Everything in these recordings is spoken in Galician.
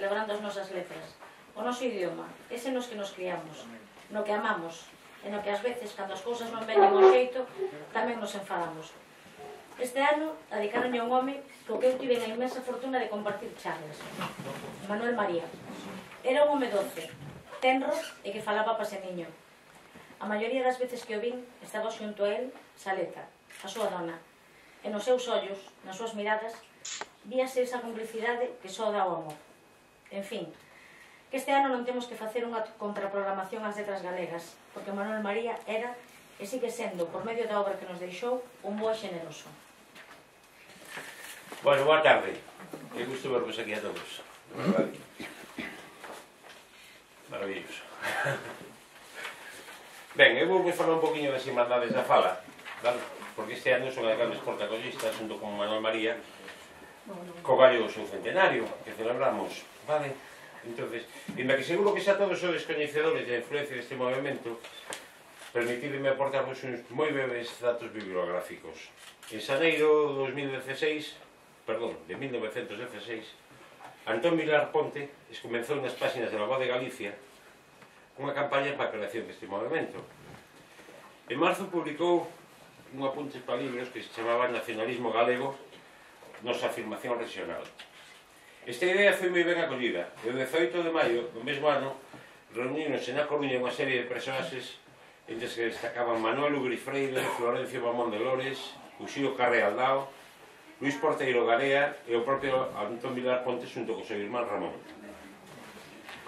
celebrando as nosas letras. O noso idioma, ese nos que nos criamos, no que amamos, e no que ás veces, cando as cousas non veñen ao xeito, tamén nos enfadamos. Este ano dedicaronlle a un home co que eu tive a inmensa fortuna de compartir charlas, Manuel María. Era un home doce, tenro e que falaba paseniño. A maioría das veces que o vin, estaba xunto a él, Saleta, a súa dona, e nos seus ollos, nas súas miradas, víase esa complicidade que só dá o amor. En fin, que este ano non temos que facer unha contraprogramación ás letras galegas, porque Manuel María era e sigue sendo, por medio da obra que nos deixou, un bo e generoso. Bueno, boa tarde. Que gusto vervos aquí a todos. Maravilloso. Ben, eu vou falar un poquinho das Irmandades da Fala, vale? Porque este ano son as grandes protagonistas, junto con Manuel María, co gallo seu centenario, que celebramos, vale? Entonces, inda que seguro que xa todos sois coñecedores da influencia deste movimento, permitideme aportarvos uns moi breves datos bibliográficos. En xaneiro de 1916, Antón Vilar Ponte comenzou nas páxinas de La Voz de Galicia unha campaña para a creación deste movimento. En marzo publicou un apunte para libros que se chamaba Nacionalismo Galego, nosa afirmación regional. Esta idea foi moi ben acollida e o 18 de maio do mesmo ano reunironse na Coruña unha serie de personaxes entre os que destacaban Manuel Ugri Freire, Florencio Mamón de Lores, Uxío Carre Aldao, Luís Porteiro Garea e o propio Antón Vilar Ponte xunto co seu irmán Ramón.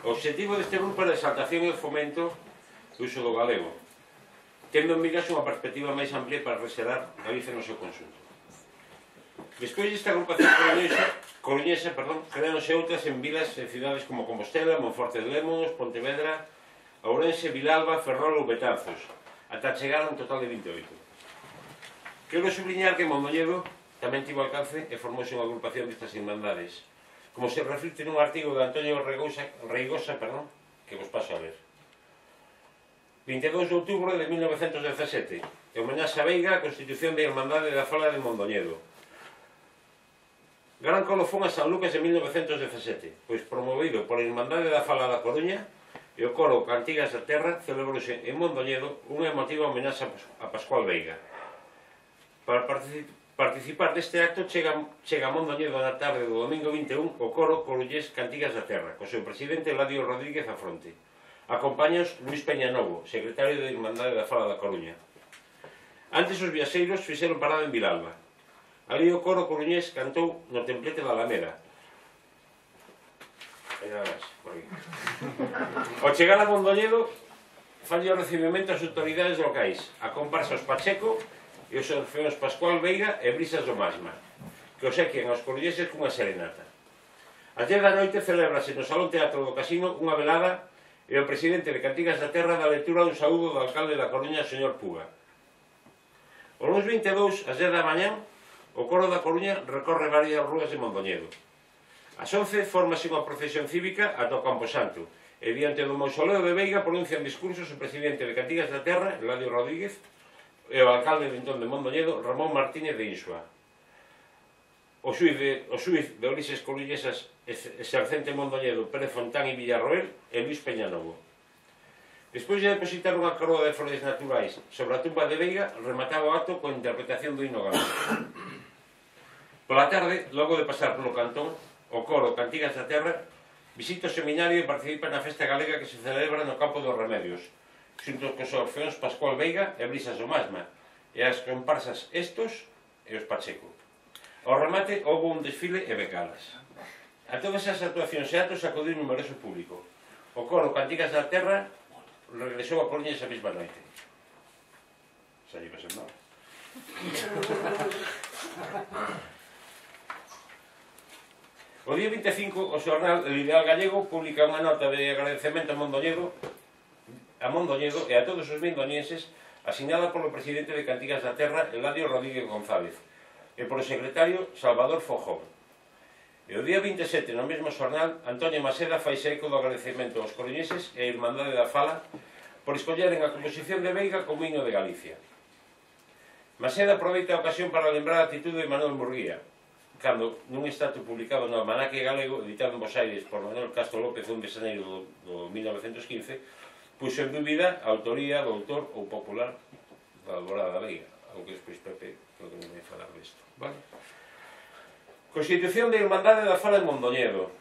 O obxectivo deste grupo era a exaltación e o fomento do uso do galego, tendo en miras unha perspectiva máis amplia para reserar Galicia no seu conxunto. Despois desta agrupación coruñesa, creáronse outras en vilas e cidades como Compostela, Monforte de Lemos, Pontevedra, Ourense, Vilalba, Ferrol ou Betanzos, ata chegar a un total de 28. Quero subliñar que Mondoñedo tamén tivo alcance e formouse unha agrupación destas irmandades, como se reflicte nun artigo de Antonio Reigosa, que vos paso a ver. 22 de outubro de 1917, e homenaxe a Veiga a constitución da Irmandade da Fala de Mondoñedo. Gran colofón a San Lucas de 1917, pois promovido por a Irmandade da Fala da Coruña e o coro Cantigas da Terra celebrouse en Mondoñedo unha emotiva homenaxe a Pascual Veiga. Para participar deste acto chega a Mondoñedo na tarde do domingo 21 o coro coruñés Cantigas da Terra, co seu presidente Eladio Rodríguez a fronte. Acompáñaos Luís Peñanovo, secretario da Irmandade da Fala da Coruña. Antes os viaxeiros fixeron parada en Vilalba. Ali o coro coruñés cantou no templete da Alameda. Ao chegar a Mondoñedo, falle o recibimento ás autoridades locais, a comparsa os Pacheco e os orfeóns Pascual Veiga e Brisas do Masma, que os sequen aos coruñeses cunha serenata. A 10 da noite celebrase no Salón Teatro do Casino unha velada e o presidente de Cantigas da Terra dá lectura dun saúdo do alcalde da Coruña, señor Puga. O luns 22, ás 10 da mañá, o coro da Coruña recorre varias rúas de Mondoñedo. Ás 11 formase unha procesión cívica ata o Camposanto e diante do mausoleo de Veiga pronuncian discursos o presidente de Cantigas da Terra, Eladio Rodríguez, e o alcalde de entón de Mondoñedo, Ramón Martínez de Insua. O xuiz de Orises Coruñesas exercente Mondoñedo, Pérez Fontán e Villarroel e Luís Peñanovo. Despois de depositar unha coroa de flores naturais sobre a tumba de Veiga, remataba o acto coa interpretación do himno galego. Pola tarde, logo de pasar polo cantón, o coro Cantigas da Terra visita o seminario e participa na festa galega que se celebra no Campo dos Remedios, xunto cos orfeóns Pascual Veiga e Brisas do Masma, e as comparsas Estos e os Pacheco. Ao remate, houve un desfile e becalas. A todas as actuacións e actos acudiu numeroso público. O coro Cantigas da Terra regresou a Coruña esa mesma noite. Xa lle pasou nada. O día 25, o xornal El Ideal Gallego publica unha nota de agradecemento a Mondoñedo e a todos os mondoñenses, asignada polo presidente de Cantigas da Terra, Eladio Rodríguez González, e polo secretario Salvador Fojón. E o día 27, no mesmo xornal, Antonio Maseda faise eco do agradecemento aos coruñeses e a Irmandade da Fala por escolleren a composición de Veiga como himno de Galicia. Maseda aproveita a ocasión para lembrar a actitude de Manuel Murguía, cando nun extracto publicado no Almanaque Galego, editado en Bos Aires por Manuel Castro López, 1 de xaneiro do 1915, puxo en dúbida a autoría do autor ou popular da Alborada da Veiga, algo que despois Pepe creo que non vai falar disto, vale? Constitución de Irmandade da Fala de Mondoñedo.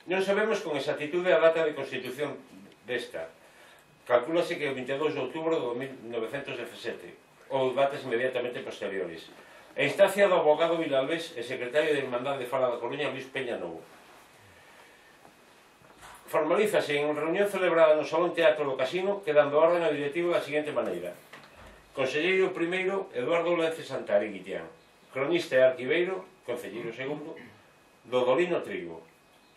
Non sabemos con exactitude a data de constitución desta. Calcúlase que é o 22 de outubro de 1917 ou datas inmediatamente posteriores. A instancia do abogado Vilalbés e secretario de Irmandade de Fala da Coruña, Luis Peña Novo. Formalízase en reunión celebrada no Salón Teatro do Casino, quedando orden ao directivo da seguinte maneira: Conselleiro primeiro, Eduardo Lence Santari Guitián. Cronista e arquiveiro, concelleiro segundo, Dodolino Trigo.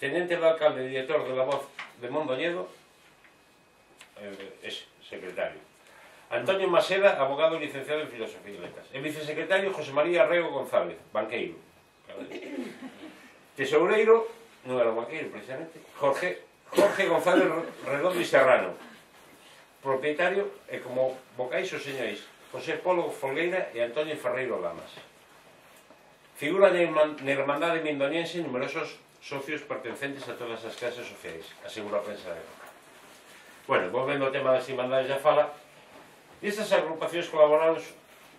Tenente do alcalde e director de La Voz de Mondoñedo, secretario. Antonio Maseda, abogado licenciado en Filosofía y Letras. El vicesecretario José María Rego González, banqueiro. Tesoureiro, non era banqueiro precisamente, Jorge González Redondo y Serrano. Propietario, e como vocais os señores José Polo Folgueira e Antonio Ferreiro Lamas. Figura na Irmandade Mindoniense numerosos socios pertencentes a todas as clases sociais, asegura a prensa de época. Bueno, volvendo ao tema das Irmandades da Fala, estas agrupacións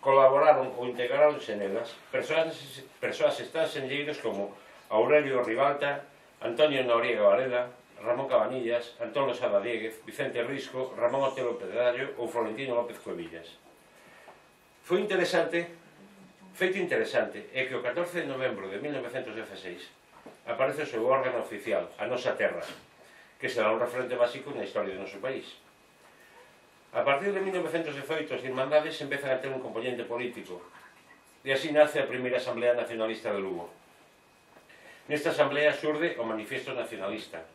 colaboraron ou integraronse nelas persoas estranxeiros como Aurelio Ribalta, Antonio Noriega Varela, Ramón Cabanillas, Antón Losada Dieguez, Vicente Risco, Ramón Otelo Pedrallo ou Florentino López Cuevillas. Feito interesante é que o 14 de novembro de 1916 aparece o seu órgano oficial, A Nosa Terra, que será un referente básico na historia do noso país. A partir de 1918 as Irmandades empezan a ter un componente político e así nace a primeira Asamblea Nacionalista de Lugo. Nesta asamblea xurde o Manifiesto Nacionalista,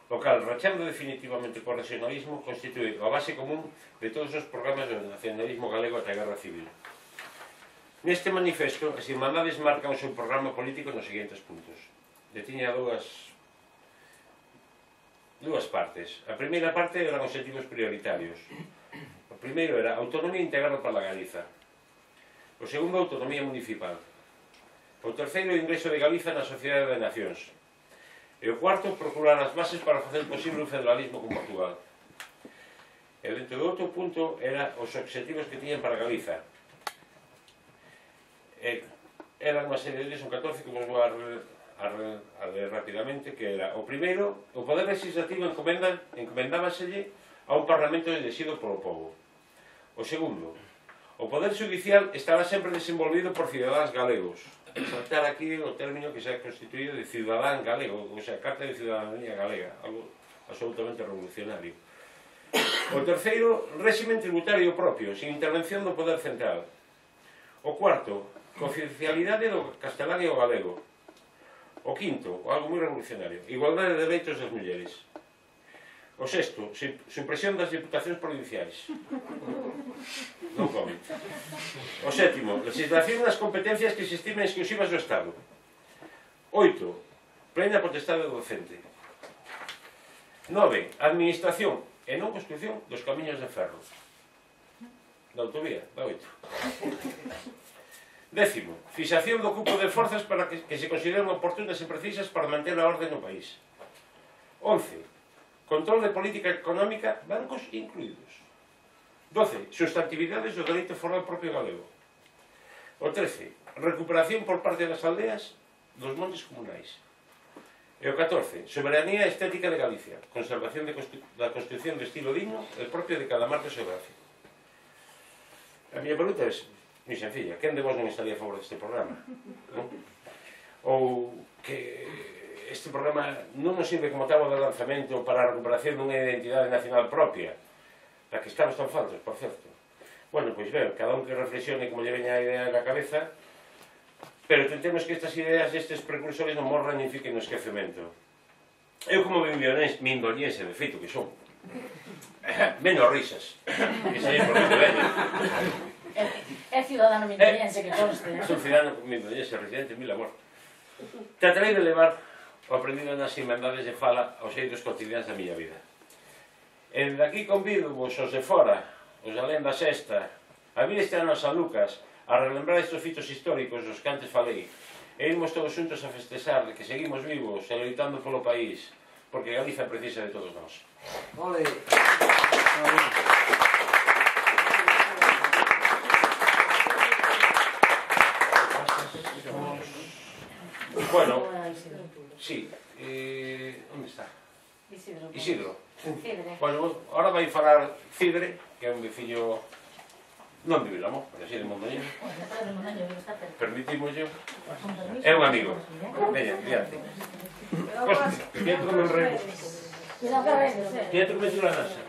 o cal, rachando definitivamente co regionalismo, constitúe a base común de todos os programas do nacionalismo galego ata a Guerra Civil. Neste manifesto, as Irmandades marcan o seu programa político nos seguintes puntos. Tiña dúas partes. A primeira parte eran obxectivos prioritarios. O primeiro era autonomía integral para a Galiza. O segundo, autonomía municipal. O terceiro, o ingreso de Galiza na Sociedade de Nacións. E o cuarto, procurar as bases para facer posible un federalismo con Portugal. E dentro do outro punto era os obxectivos que tiñan para Galiza. Eran unha serie deles, un 14 que vos vou a ler rapidamente, que era o primeiro, o poder legislativo encomendábaselle a un parlamento elexido polo povo. O segundo, o poder judicial estaba sempre desenvolvido por cidadáns galegos. Saltar aquí o término que se ha constituído de cidadán galego, ou sea, carta de ciudadanía galega, algo absolutamente revolucionario. O terceiro, réximen tributario propio, sin intervención do poder central. O cuarto, cooficialidade do castelán e o galego. O quinto, algo moi revolucionario, igualdade de dereitos das mulleres. O sexto, supresión das diputacións provinciais. Non comento. O sétimo, legislación nas competencias que se estimen exclusivas do Estado. 8. Plena potestade do docente. 9. Administración e non construcción dos camiños de ferro. Da autovía, da 8. 10. Fixación do cupo de forzas para que se consideren oportunas e precisas para manter a orde no país. 11. Control de política económica, bancos incluídos. 12. Sustantividades do dereito foral propio galego. O 13. Recuperación por parte das aldeas dos montes comunais. E o 14. Soberanía estética de Galicia. Conservación da construcción de estilo digno e propio de cada marco xeográfico. A miña pregunta é moi sencilla. Quen de vos non estaría a favor deste programa? Non? Ou que este programa non nos sirve como táboa de lanzamento para a recuperación dunha identidade nacional propia, da que estamos tan faltos, por certo. Bueno, pois ben, cada un que reflexione como lle veña a idea na cabeza, pero tentemos que estas ideas destes precursores non morran e fiquen no esquecemento. Eu como mindoniense, de feito que son, menos risas, que sei por que veño. É ciudadano mindoniense que conste. Son ciudadano mindoniense, residente, mil amor. Tratarei de levar o aprendido nas Irmandades de Fala aos eidos cotidianos da miña vida. E daqui convido vos os de fora, os alén da sexta, a vir este ano a San Lucas, a relembrar estes fitos históricos dos que antes falei, e irmos todos xuntos a festexar de que seguimos vivos e loitando polo país, porque Galicia precisa de todos nós. Ole! Bueno, sí, onde está? Isidro. Bueno, ahora vai falar Cidre, que é un veciño non de Vilamón, pero así de Mondoñedo. Permitimos yo. É un amigo. Veña, diante. Pietro Menrego. Pietro Menrego Nasa.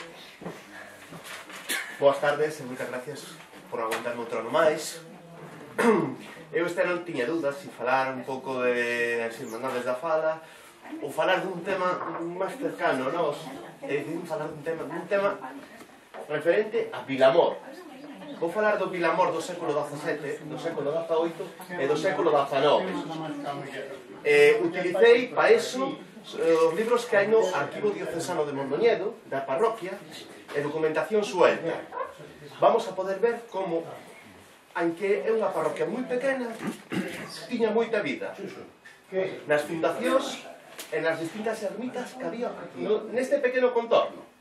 Boas tardes e moitas gracias por aguantarme outro ano máis. Eu este ano tiña dúdas se falar un pouco de as Irmandades da Fala ou falar dun tema máis cercano a nós, e decidí falar dun tema referente a Vilamor. Vou falar do Vilamor do século XVII, do século XVIII e do século XIX. Utilicei para eso os libros que hai no Arquivo Diocesano de Mondoñedo, da parroquia, e documentación suelta. Vamos a poder ver como, aunque é unha parroquia moi pequena, tiña moita vida. Nas fundacións e nas distintas ermitas que había neste pequeno contorno.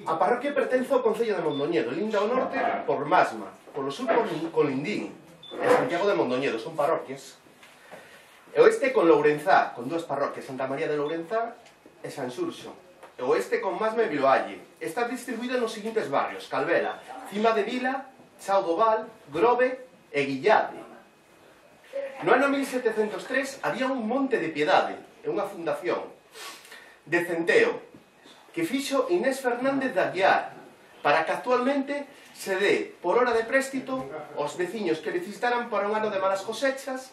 A parroquia pertence ao concello de Mondoñedo, linda ao norte por Masma, polo sur por Colindín e Santiago de Mondoñedo, son parroquias. E oeste con Lourenzá, con dúas parroquias, Santa María de Lourenzá e San Xurxo. E oeste con Masma e Viloalle. Está distribuída nos seguintes barrios: Calvela, Cima de Vila, Chao do Val, Grove e Guillade. No ano 1703 había un monte de piedade e unha fundación de centeo que fixo Inés Fernández de Aguiar para que actualmente se dé por hora de préstito aos veciños que necesitaran para un ano de malas cosechas,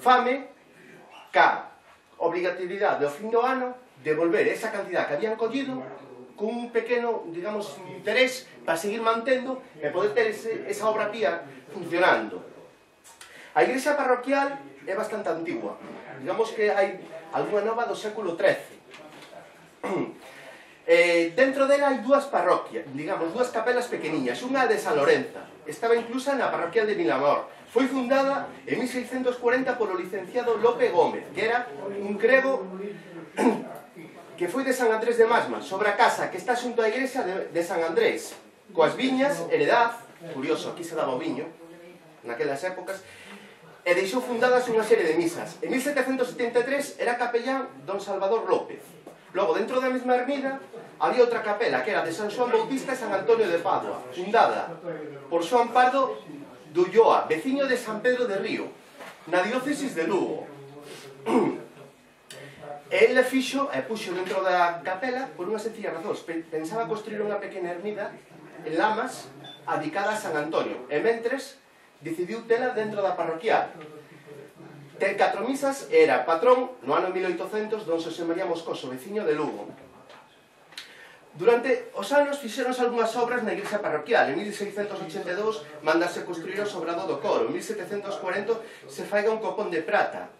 fame, ca obrigatoriedade ao fin do ano devolver esa cantidad que habían collido con un pequeno, digamos, interés para seguir mantendo e poder ter esa obra pía funcionando. A igrexa parroquial é bastante antigua. Digamos que hai algunha nova do século XIII. Dentro dela hai dúas parroquias, digamos, dúas capelas pequeniñas. Unha de San Lorenza, estaba inclusa na parroquial de Vilamor. Foi fundada en 1640 polo licenciado Lope Gómez, que era un crego que foi de San Andrés de Masma, sobre a casa que está xunto á igrexa de San Andrés, coas viñas, heredad, curioso, aquí se daba o viño, naquelas épocas, e deixou fundadas unha serie de misas. En 1773 era capellán don Salvador López. Logo, dentro da mesma ermida, había outra capela, que era de San Xoán Bautista e San Antonio de Padua, fundada por Xoán Pardo de Ulloa, veciño de San Pedro de Río, na diócesis de Lugo. Ele fixo e puxo dentro da capela por unha sencilla razón. Pensaba construir unha pequena ermida en Lamas adicada a San Antonio, e mentres decidiu tela dentro da parroquial. Ten 4 misas e era patrón no ano 1800 don Xosé María Moscoso, veciño de Lugo. Durante os anos fixeronse algunhas obras na igrexa parroquial. En 1682 mandase construir o sobrado do coro. En 1740 se faiga un copón de prata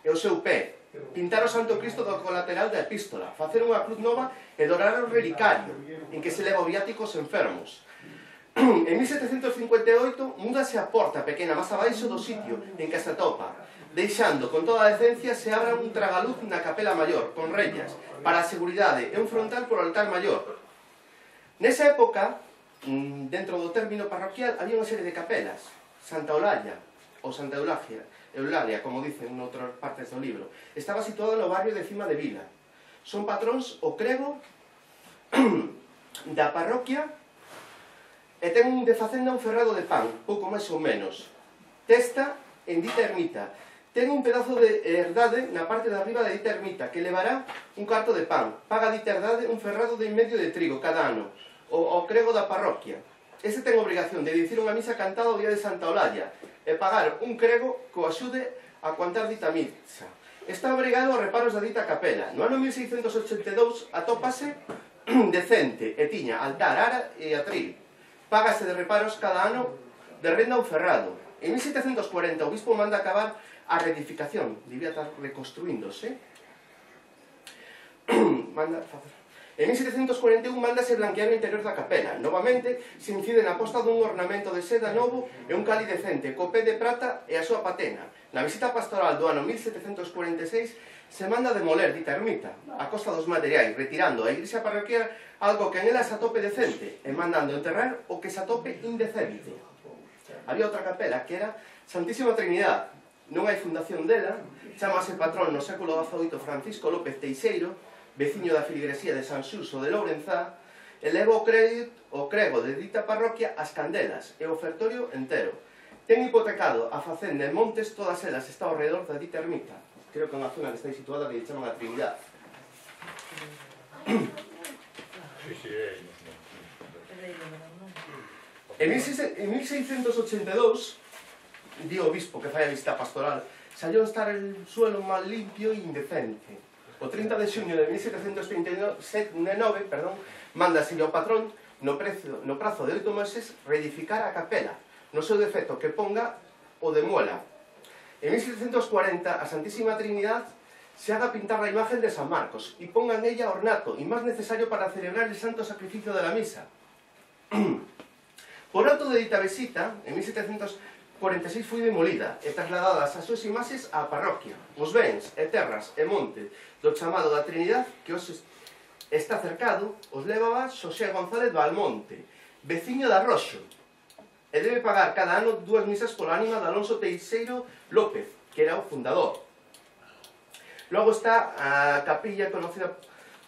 e o seu pé, pintar o Santo Cristo do colateral da epístola, facer unha cruz nova e dorar o relicario en que se leva o viático aos enfermos. En 1758 múdase a porta pequena máis abaixo do sitio en que se atopa, deixando con toda a decencia se abra un tragaluz na capela maior, con rellas, para a seguridade e un frontal por altar maior. Nesa época, dentro do término parroquial, había unha serie de capelas. Santa Eulalia, ou Santa Eulalia, como dicen en outras partes do libro, estaba situada no barrio de Cima de Vila. Son patróns o crego da parroquia e ten de facenda un ferrado de pan, pouco máis ou menos. Testa en dita ermita. Ten un pedazo de herdade na parte de arriba de dita ermita, que levará un carto de pan. Paga dita herdade un ferrado de medio de trigo cada ano, o crego da parroquia. Ese ten obrigación de dicir unha misa cantada o día de Santa Eulalia e pagar un crego que o axude a contar dita misa. Está obrigado a reparos da dita capela. No ano 1682 atópase decente e tiña altar, ara e atril. Págase de reparos cada ano de renda un ferrado. En 1740 o bispo manda acabar a reedificación, debía estar reconstruíndose. En 1741 mándase blanquear o interior da capela. Novamente, se incide na posta dun ornamento de seda novo e un cáliz decente, co pé de prata e a súa patena. Na visita pastoral do ano 1746, se manda demoler dita ermita, a costa dos materiais, retirando a igrexa parroquial algo que en ela se atope decente e mandando enterrar o que se atope indecente. Había outra capela que era Santísima Trinidade. Non hai fundación dela, chamase patrón no século XVIII Francisco López Teixeiro, veciño da filigresía de San Xuso de Lourenzá, eleva o crego de dita parroquia as candelas e o ofertorio entero. Ten hipotecado a facenda en Montes, todas elas está ao redor da dita ermita. Creo que é unha zona que está situada que chaman a Trinidade. En 1682, di o obispo que fai a visita pastoral, salió a estar el suelo mal limpio e indecente. O 30 de xuño de 1739, mándase ao patrón no prazo de 8 meses reedificar a capela, no seu defecto que ponga o demuela. En 1740 a Santísima Trinidad se haga pintar la imagen de San Marcos y ponga en ella ornato y más necesario para celebrar el santo sacrificio de la misa. Por auto de dita visita, en 1746 foi demolida e trasladadas as súas imaxes á parroquia. Os bens e terras e monte do chamado da Trinidad, que hoxe está cercado, os levaba Xosé González Valmonte, veciño de Arroxo, e debe pagar cada ano 2 misas pola ánima de Alonso Teixeiro López, que era o fundador. Logo está a capilla conocida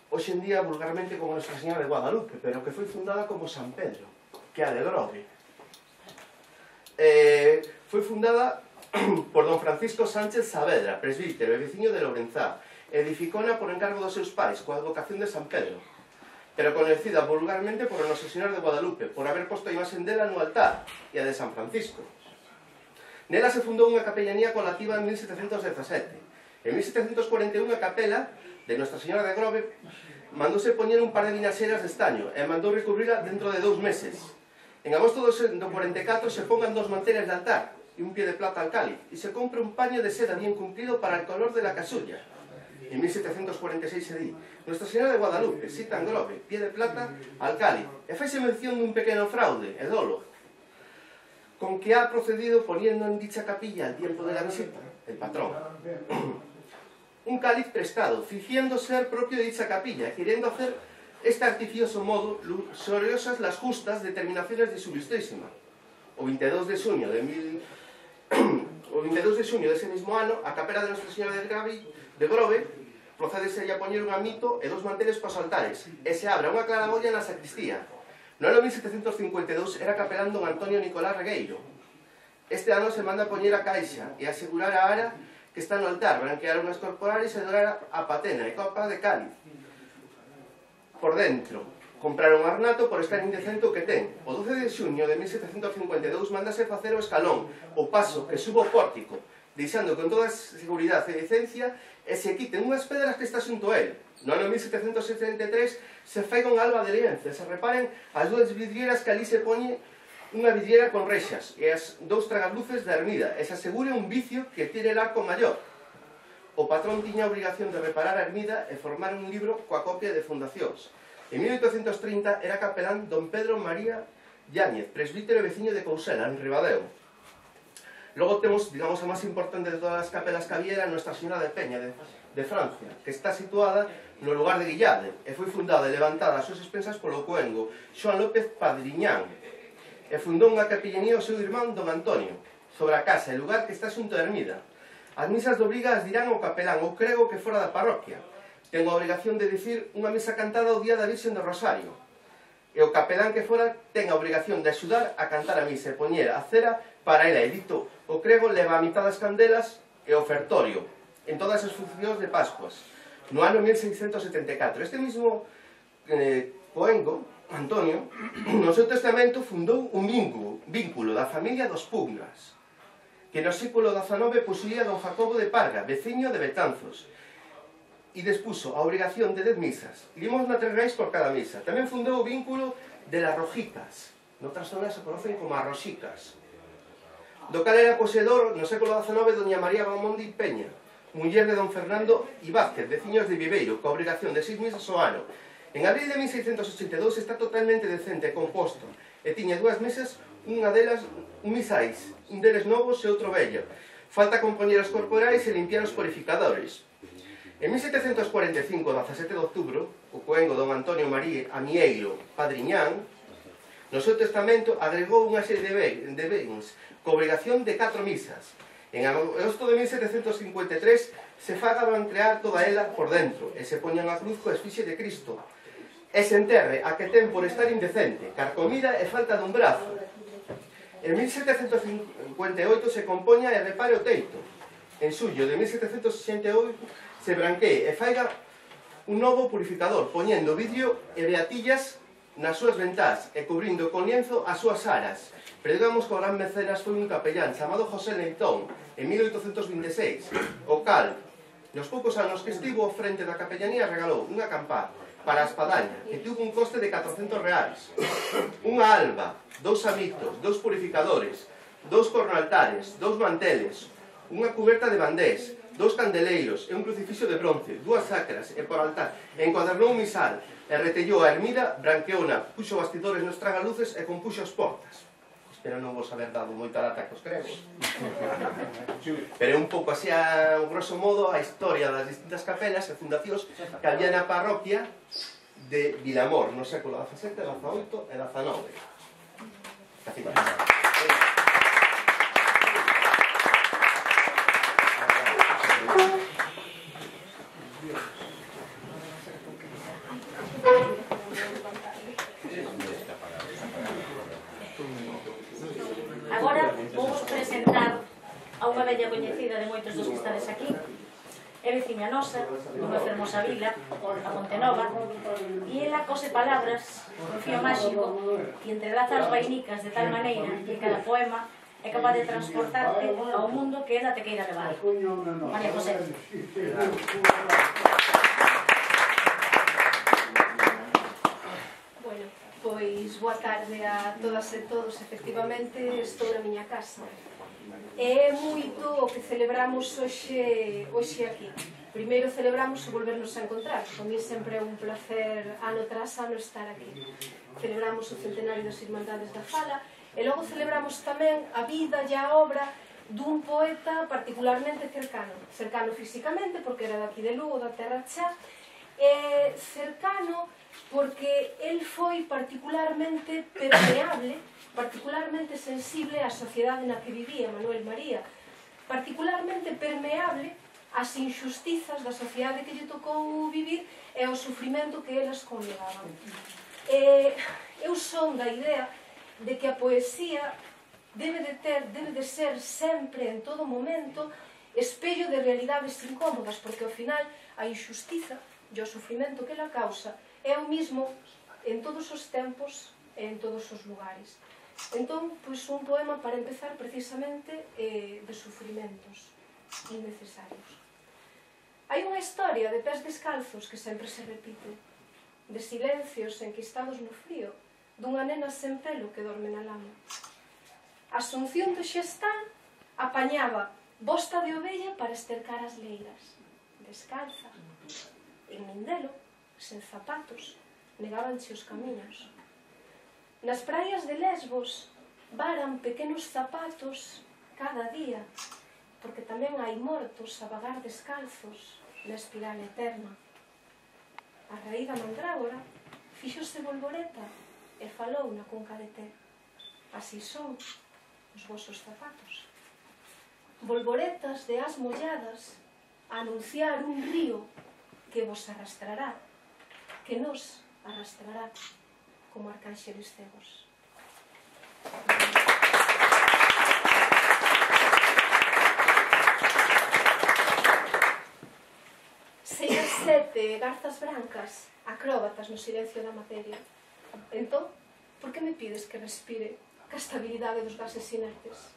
hoxe en día vulgarmente como Nuestra Señora de Guadalupe, pero que foi fundada como San Pedro, que é a de Grove. Foi fundada por don Francisco Sánchez Saavedra, presbítero e veciño de Lourenzá. Edificona por encargo dos seus pais, coa advocación de San Pedro, pero conhecida vulgarmente por Nosa Señora de Guadalupe, por haber posto a imaxen dela no altar, e a de San Francisco. Nela se fundou unha capellanía colativa en 1717. En 1741 a capela de Nuestra Señora de Grove mandouse poñer un par de vinaxeras de estaño e mandou recubrila dentro de 2 meses. En agosto do 44 se pongan 2 manteles de altar e un pie de plata al cáliz e se compra un paño de seda bien cumplido para el color de la casulla. En 1746 se di Nuestra Señora de Guadalupe, cita en Grove, pie de plata al cáliz, e faise mención dun pequeno fraude e dolo con que ha procedido poniendo en dicha capilla al tiempo de la visita el patrón un cáliz prestado, fingiendo ser propio de dicha capilla, queriendo hacer este artificioso modo luxuriosas las justas determinaciones de su ilustrísima. O 22 de xuño de ese mismo ano, a capela de Nuestra Señora de Grove procedese a poñer un amito e 2 manteles para os altares, e se abra unha claraboia na sacristía. No ano 1752 era capelán don Antonio Nicolás Regueiro. Este ano se manda a poñer a caixa e asegurar a ara que está no altar, branquear unhas corporales e dorar a patena e copa de cáliz. Por dentro, comprar un ornato por estar indecente o que ten. O 12 de xuño de 1752 mándase facer o escalón, o paso que subo o pórtico, deixando con toda a seguridade e decencia e se quiten unhas pedras que está xunto a él. No ano 1773 se fai con alba de lienzo e se reparen as 2 vidrieras que ali se poñe unha vidriera con rexas e as 2 tragasluces da ermida e se asegure un vicio que tiene el arco maior. O patrón tiña a obrigación de reparar a ermida e formar un libro coa copia de fundacións. En 1830 era capelán don Pedro María Yáñez, presbítero e veciño de Cousela, en Ribadeo. Logo temos, digamos, a máis importante de todas as capelas que había era Nuestra Señora de Peña, de Francia, que está situada no lugar de Guillade, e foi fundada e levantada as súas expensas polo cuengo Xoan López Padriñán, e fundou unha capellanía ao seu irmán don Antonio, sobre a casa e lugar que está xunto a ermida. As misas de obriga as dirán o capelán ou crego que fora da parroquia. Ten a obrigación de dicir unha misa cantada o día da Virxen do Rosario. E o capelán que fora ten a obrigación de axudar a cantar a misa e poñer a cera para ela. E dito o crego leva a mitad das candelas e o ofertorio en todas as funcións de Pascuas. No ano 1674, este mismo Coengo, Antonio, no seu testamento fundou un vínculo da familia dos Pugnas, que no século XIX posuía don Jacobo de Parga, veciño de Betanzos, e despuso a obrigación de 10 misas, limosna 3 reis por cada misa. Tamén fundou o vínculo de las Rojitas, noutras zonas se conocen como as Roxicas, do cal era poseedor no século XIX doña María Bamondi Peña, muller de don Fernando Ibázquez, veciños de Viveiro, coa obrigación de 6 misas ao ano. En abril de 1682 está totalmente decente e composto, e tiña dúas mesas, unha delas misais, un deles novos e outro vello. Falta compoñer os corporais e limpiar os purificadores. En 1745, 17 de outubro, o coengo don Antonio María Amieiro Padriñán, no seu testamento, agregou unha serie de bens co obrigación de 4 misas. En agosto de 1753 se fagaban crear toda ela por dentro e se poñan a cruz coa esfixe de Cristo e se enterre a que ten por estar indecente, carcomida e falta dun brazo. En 1758 se compoña e repare o teito. En xullo de 1768 se branquee e faiga un novo purificador, poñendo vidrio e beatillas nas súas ventás e cubrindo con lienzo as súas aras. Pero digamos que o gran mecenas foi un capellán chamado José Leitón en 1826, o cal, nos poucos anos que estivo ao frente da capellanía, regalou unha campá para a espadaña, que tuvo un coste de 400 reais, unha alba, 2 amitos, 2 purificadores, 2 cornoaltares, 2 manteles, unha cuberta de bandés, 2 candeleiros e un crucifixo de bronce, 2 sacras e por altar, encuadernou un misal, e retellou a ermida, branqueona, puxo bastidores nos tragaluces e compuxo as portas. Espero non vos haber dado moita lata cos gregos. Pero un pouco así, a grosso modo, a historia das distintas capelas e fundacións que había na parroquia de Vilamor, no século XVII, XVIII e XIX. Casi para. Agora vamos presentar a unha bella coñecida de moitos dos que estades aquí. É veciña nosa, dunha fermosa vila, a Montenova, e ela cose palabras, un fío máxico, que entrelaza as vainicas de tal maneira que cada poema é capaz de transportarte ao mundo que ela te queira levar. María José. Bueno, pois boa tarde a todas e todos. Efectivamente, estou na miña casa. É moito o que celebramos hoxe aquí. Primeiro celebramos o volvernos a encontrar. Para mí sempre é un placer ano tras ano estar aquí. Celebramos o centenario das Irmandades da Fala e logo celebramos tamén a vida e a obra dun poeta particularmente cercano físicamente, porque era daqui de Lugo, da Terra Chá, e cercano porque el foi particularmente permeable, particularmente sensible á sociedade na que vivía Manuel María, particularmente permeable ás injustizas da sociedade que lle tocou vivir e ao sufrimento que elas conlevaban. Eu son da idea de que a poesía debe de ser sempre, en todo momento, espello de realidades incómodas, porque ao final a injustiza e o sufrimento que ela causa é o mismo en todos os tempos e en todos os lugares. Entón, pois un poema para empezar precisamente de sufrimentos innecesarios. Hai unha historia de pés descalzos que sempre se repite, de silencios enquistados no frío, dunha nena sen pelo que dorme na lama. Asunción do Xestal apañaba bosta de ovella para estercar as leiras. Descalza, en Mindelo, sen zapatos, negábanche os camiños. Nas praias de Lesbos varan pequenos zapatos cada día, porque tamén hai mortos a vagar descalzos na espiral eterna. A raíz da mandrágora fíxose bolboreta e falou na cunca de té. Así son os vosos zapatos. Bolboretas de as molladas a anunciar un río que vos arrastrará, que nos arrastrará como arcánxeles cegos. Seis as sete garzas brancas, acróbatas no silencio da materia. Entón, por que me pides que respire ca estabilidade dos gases inertes?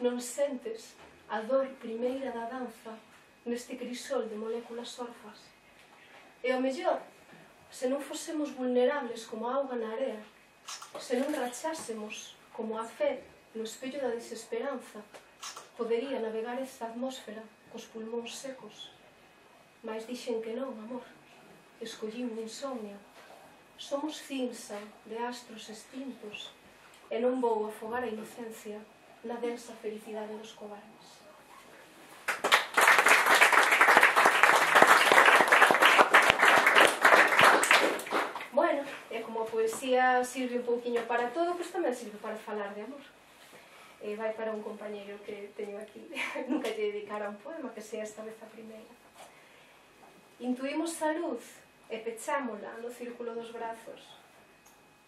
Non sentes a dor primeira da danza neste crisol de moléculas orfas? E ao mellor, se non fosemos vulnerables como a auga na area, se non rachásemos como a fe no espello da desesperanza, podería navegar esta atmósfera cos pulmóns secos. Mais dixen que non, amor. Escollín insomnio Somos cinza de astros extintos e non vou afogar a inocencia na densa felicidade dos cobardes. Bueno, e como a poesía sirve un pouquiño para todo, pois tamén sirve para falar de amor. Vai para un compañeiro que teño aquí, nunca lle dedicara un poema, que sea esta vez a primeira. Intuímos a luz e pechámola no círculo dos brazos.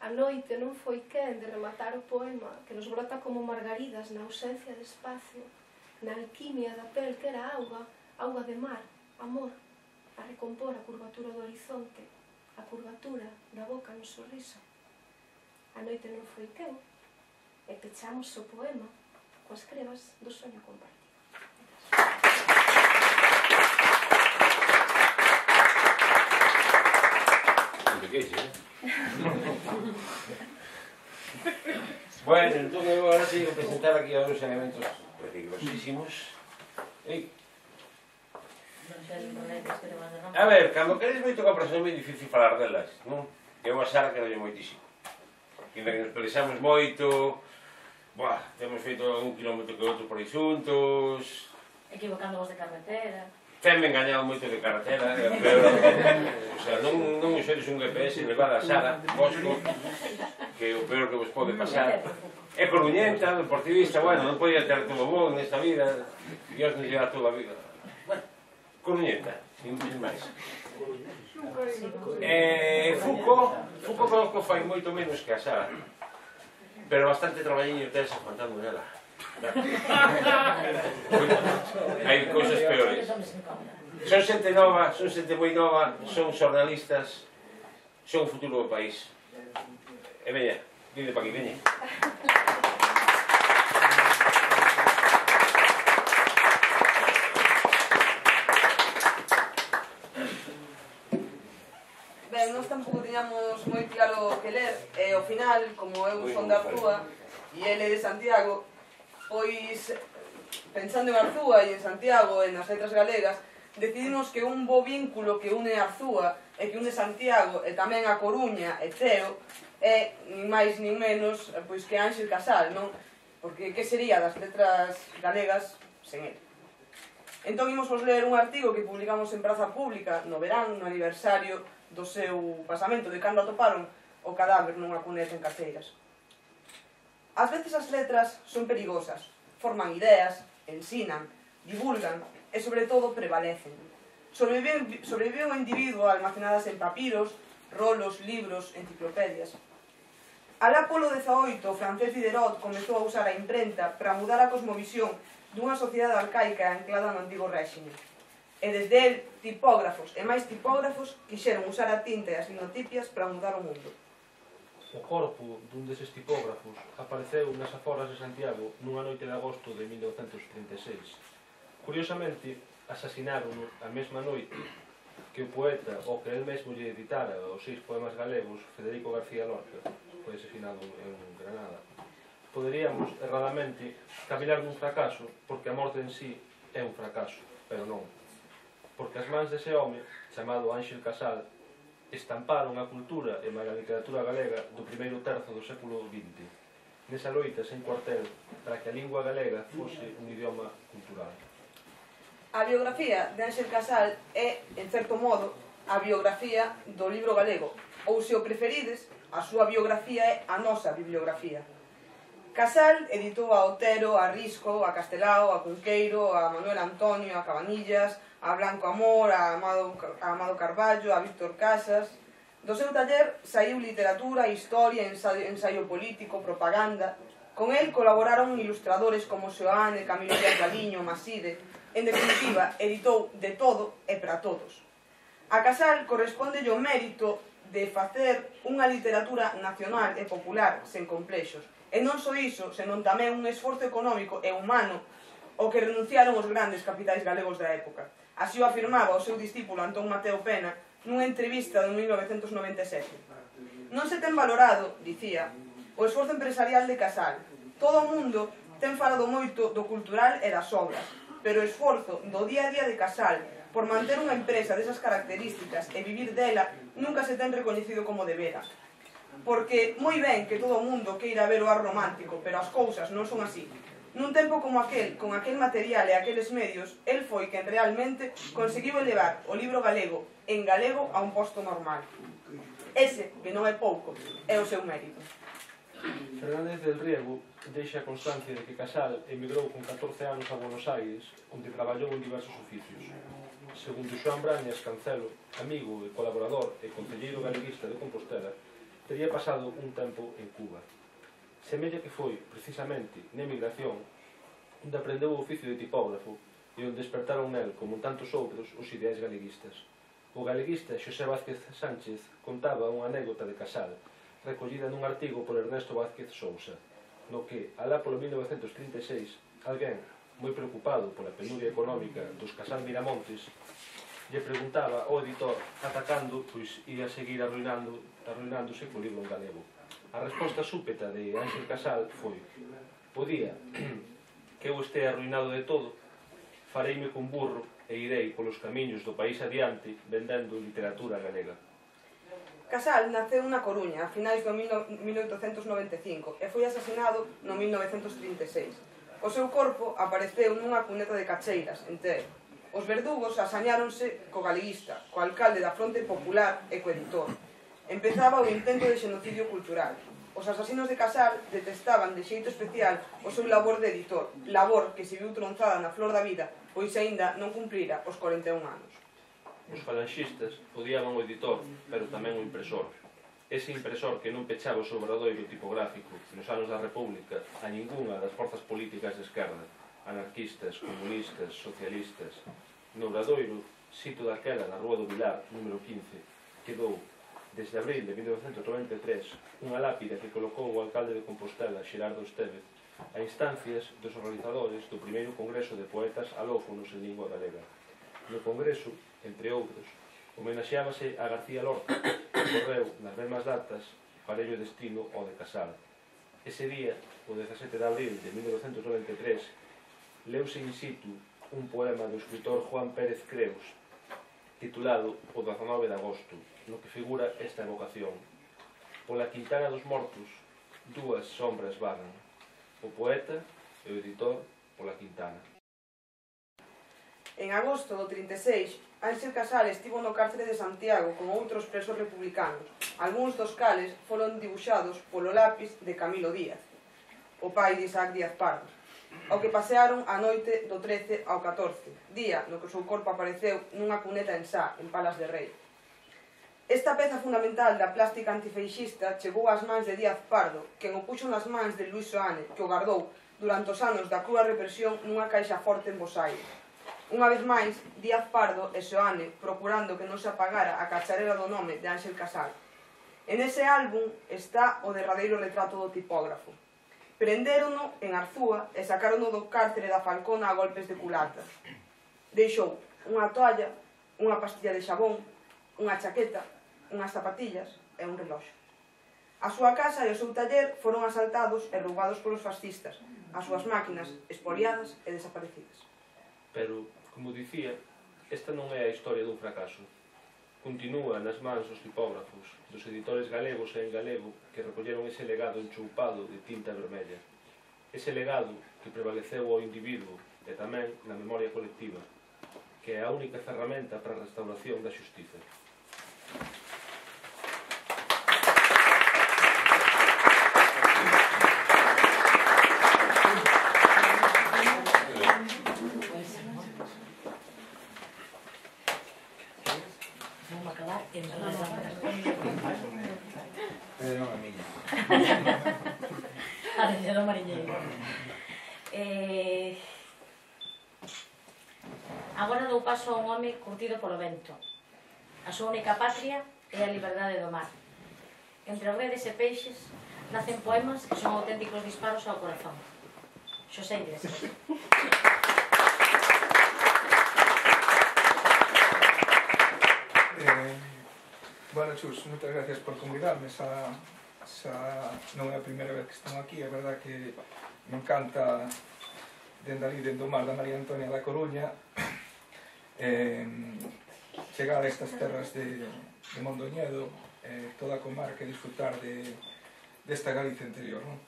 A noite non foi quen de rematar o poema que nos brota como margaridas na ausencia de espacio, na alquimia da pel que era auga, auga de mar, amor, a recompor a curvatura do horizonte, a curvatura da boca no sorriso. A noite non foi quen, e pechamos o poema coas crevas do soño compartido. Bueno, entón eu agora teño que presentar aquí a uns elementos peligrosísimos. A ver, cando queres moito que apresen é moi difícil falar delas, non? Eu a Sara quero moitísimo. Ainda que nos pelexamos moito, temos feito un kilómetro que outro por aí xuntos. Equivocando vos de carretera. Tenme engañado moito de carretera, pero o sea, non usedes un GPS, levada a Sara, Bosco, que é o peor que vos pode pasar. É coruñenta, deportivista, bueno, non podía ter todo bo nesta vida, Dios nos lleva toda a vida. Bueno, coruñenta, sin máis. Foucault conozco fai moito menos que a Sara, pero bastante traballiño tense aguantando nela. Hai cousas peores. Son xente nova, son xente moi nova, son xornalistas, son o futuro do país. E veña, vide pa aquí, veña. Ben, nós tampouco tiñamos moi claro que ler, e ao final, como eu son de Arzúa e ele de Santiago, pois, pensando en Arzúa e en Santiago e nas letras galegas, decidimos que un bo vínculo que une Arzúa e que une Santiago e tamén a Coruña e Teo é, nin máis nin menos, pois que Ánxel Casal, non? Porque que sería das letras galegas sen ele? Entón imos vos ler un artigo que publicamos en Praza Pública no verán, no aniversario do seu pasamento, de cando atoparon o cadáver nunha cuneta en Caceiras. Ás veces as letras son perigosas, forman ideas, ensinan, divulgan e, sobre todo, prevalecen. Sobrevive un individuo almacenadas en papiros, rolos, libros, enciclopedias. Alá polo 18, o francés Diderot comezou a usar a imprenta para mudar a cosmovisión dunha sociedade arcaica anclada no antigo réxime. E desde el, tipógrafos e máis tipógrafos quixeron usar a tinta e as linotipias para mudar o mundo. O corpo dun deses tipógrafos apareceu nas aforas de Santiago nunha noite de agosto de 1936. Curiosamente, asasinaron a mesma noite que o poeta, o que el mesmo lle editara os 6 poemas galegos, Federico García Lorca, foi asesinado en Granada. Poderíamos, erradamente, cavilar dun fracaso, porque a morte en sí é un fracaso, pero non. Porque as mans dese home, chamado Ánxel Casal, estamparon a cultura e a literatura galega do primeiro terzo do século XX, nesa loita sen cuartel para que a lingua galega fose un idioma cultural. A biografía de Ánxel Casal é, en certo modo, a biografía do libro galego, ou, se o preferides, a súa biografía é a nosa bibliografía. Casal editou a Otero, a Risco, a Castelao, a Cunqueiro, a Manuel Antonio, a Cabanillas, a Blanco Amor, a Amado Carballo, a Víctor Casas. Do seu taller saiu literatura, historia, ensaio político, propaganda. Con el colaboraron ilustradores como Xoane, Camilo Díaz Galiño, Maside. En definitiva, editou de todo e para todos. A Casal corresponde o mérito de facer unha literatura nacional e popular sen complexos. E non só iso, senón tamén un esforzo económico e humano ao que renunciaron os grandes capitais galegos da época. Así o afirmaba o seu discípulo Antón Mateo Pena nunha entrevista de 1997. Non se ten valorado, dicía, o esforzo empresarial de Casal. Todo o mundo ten falado moito do cultural e das obras, pero o esforzo do día a día de Casal por manter unha empresa desas características e vivir dela nunca se ten recoñecido como debera. Porque moi ben que todo o mundo queira ver o ar romántico, pero as cousas non son así. Nun tempo como aquel, con aquel material e aqueles medios, el foi quen realmente conseguiu elevar o libro galego en galego a un posto normal. Ese, que non é pouco, é o seu mérito. Fernández del Riego deixa constancia de que Casal emigrou con 14 anos a Buenos Aires, onde traballou en diversos oficios. Segundo Xoán Brañas Cancelo, amigo e colaborador e concelleiro galeguista de Compostela, tería pasado un tempo en Cuba. Semella que foi, precisamente, na emigración, onde aprendeu o oficio de tipógrafo e onde despertaron nel, como en tantos outros, os ideais galeguistas. O galeguista Xosé Vázquez Sánchez contaba unha anécdota de Casal, recollida nun artigo por Ernesto Vázquez Sousa, no que, alá polo 1936, alguén, moi preocupado pola penuria económica dos Casal Miramontes, lle preguntaba ao editor ata cando pois ia seguir arruinándose co libro en galego. A resposta súpeta de Ángel Casal foi: o día que eu estea arruinado de todo, fareime con burro e irei polos camiños do país adiante vendendo literatura galega. Casal naceu na Coruña a finais do 1895 e foi asesinado no 1936. O seu corpo apareceu nunha cuneta de Cacheiras, en Teo. Os verdugos asañáronse co galeguista, co alcalde da Fronte Popular e co editor. Empezaba o intento de xenocidio cultural. Os asasinos de Casal detestaban de xeito especial o seu labor de editor, labor que se viu tronzada na flor da vida, pois aínda non cumprira os 41 anos. Os falanxistas odiaban o editor, pero tamén o impresor. Ese impresor que non pechaba o seu obradoiro tipográfico nos anos da República a ningunha das forzas políticas de esquerda, anarquistas, comunistas, socialistas. No obradoiro, sito daquela na Rúa do Vilar, número 15, quedou, desde abril de 1993, unha lápida que colocou o alcalde de Compostela, Xerardo Estévez, a instancias dos organizadores do primeiro Congreso de Poetas Alófonos en Lingua Galega. No Congreso, entre outros, homenaxeábase a García Lorca, que correu nas mesmas datas parello destino ao de Casal. Ese día, o 17 de abril de 1993, leuse in situ un poema do escritor Juan Pérez Creus, titulado O 19 de agosto, no que figura esta evocación. Pola quintana dos mortos, dúas sombras vagan, o poeta e o editor pola quintana. En agosto do 36, Ángel Casal estivo no cárcere de Santiago con outros presos republicanos, algúns dos cales foron dibuixados polo lápis de Camilo Díaz, o pai de Isaac Díaz Pardo, ao que pasearon a noite do 13 ao 14, día no que o seu corpo apareceu nunha cuneta en Sá, en Palas de Rei. Esta peza fundamental da plástica antifeixista chegou ás mans de Díaz Pardo, quen o puxo nas mans de Luís Soane, que o guardou durante os anos da crúa represión nunha caixa forte en Bos Aires. Unha vez máis, Díaz Pardo e Soane procurando que non se apagara a cacharela do nome de Ángel Casal. En ese álbum está o derradeiro retrato do tipógrafo. Prendérono en Arzúa e sacárono do cárcere da Falcona a golpes de culata. Deixou unha toalla, unha pastilla de xabón, unha chaqueta, unhas zapatillas e un reloxo. A súa casa e o seu taller foron asaltados e roubados polos fascistas, as súas máquinas expoliadas e desaparecidas. Pero, como dicía, esta non é a historia dun fracaso. Continúa nas mans dos tipógrafos, dos editores galegos e en galego que recolleron ese legado enchoupado de tinta vermella. Ese legado que prevaleceu ao individuo e tamén na memoria colectiva, que é a única ferramenta para a restauración da xustiza. Arrendero mariñeiro. Agora dou paso a un home curtido polo vento. A súa única patria é a liberdade do mar. Entre redes e peixes nacen poemas que son auténticos disparos ao corazón. Xosé Iglesias. Bueno, Chus, moitas gracias por convidarme. Non é a primeira vez que estou aquí. É verdad que me encanta dende ali, dende o mar da María Antonia da Coruña, chegar a estas terras de Mondoñedo, toda a comarca, e disfrutar desta Galicia interior, non?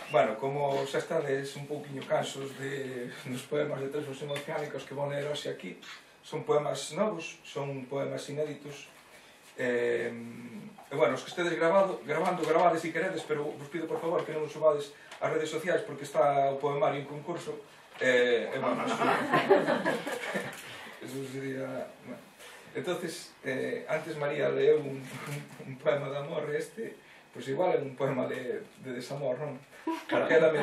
Bueno, como xa estades un pouquinho cansos dos poemas de Trexos Emocionálicos que vou ler hoxe aquí, son poemas novos, son poemas inéditos, e, bueno, os que estedes gravades se queredes, pero vos pido por favor que non os subades ás redes sociais porque está o poemario en concurso, e, bueno, eso sería... Bueno. Entonces, antes María leu un poema de amor, pois igual é un poema de desamor, non? Porque ela me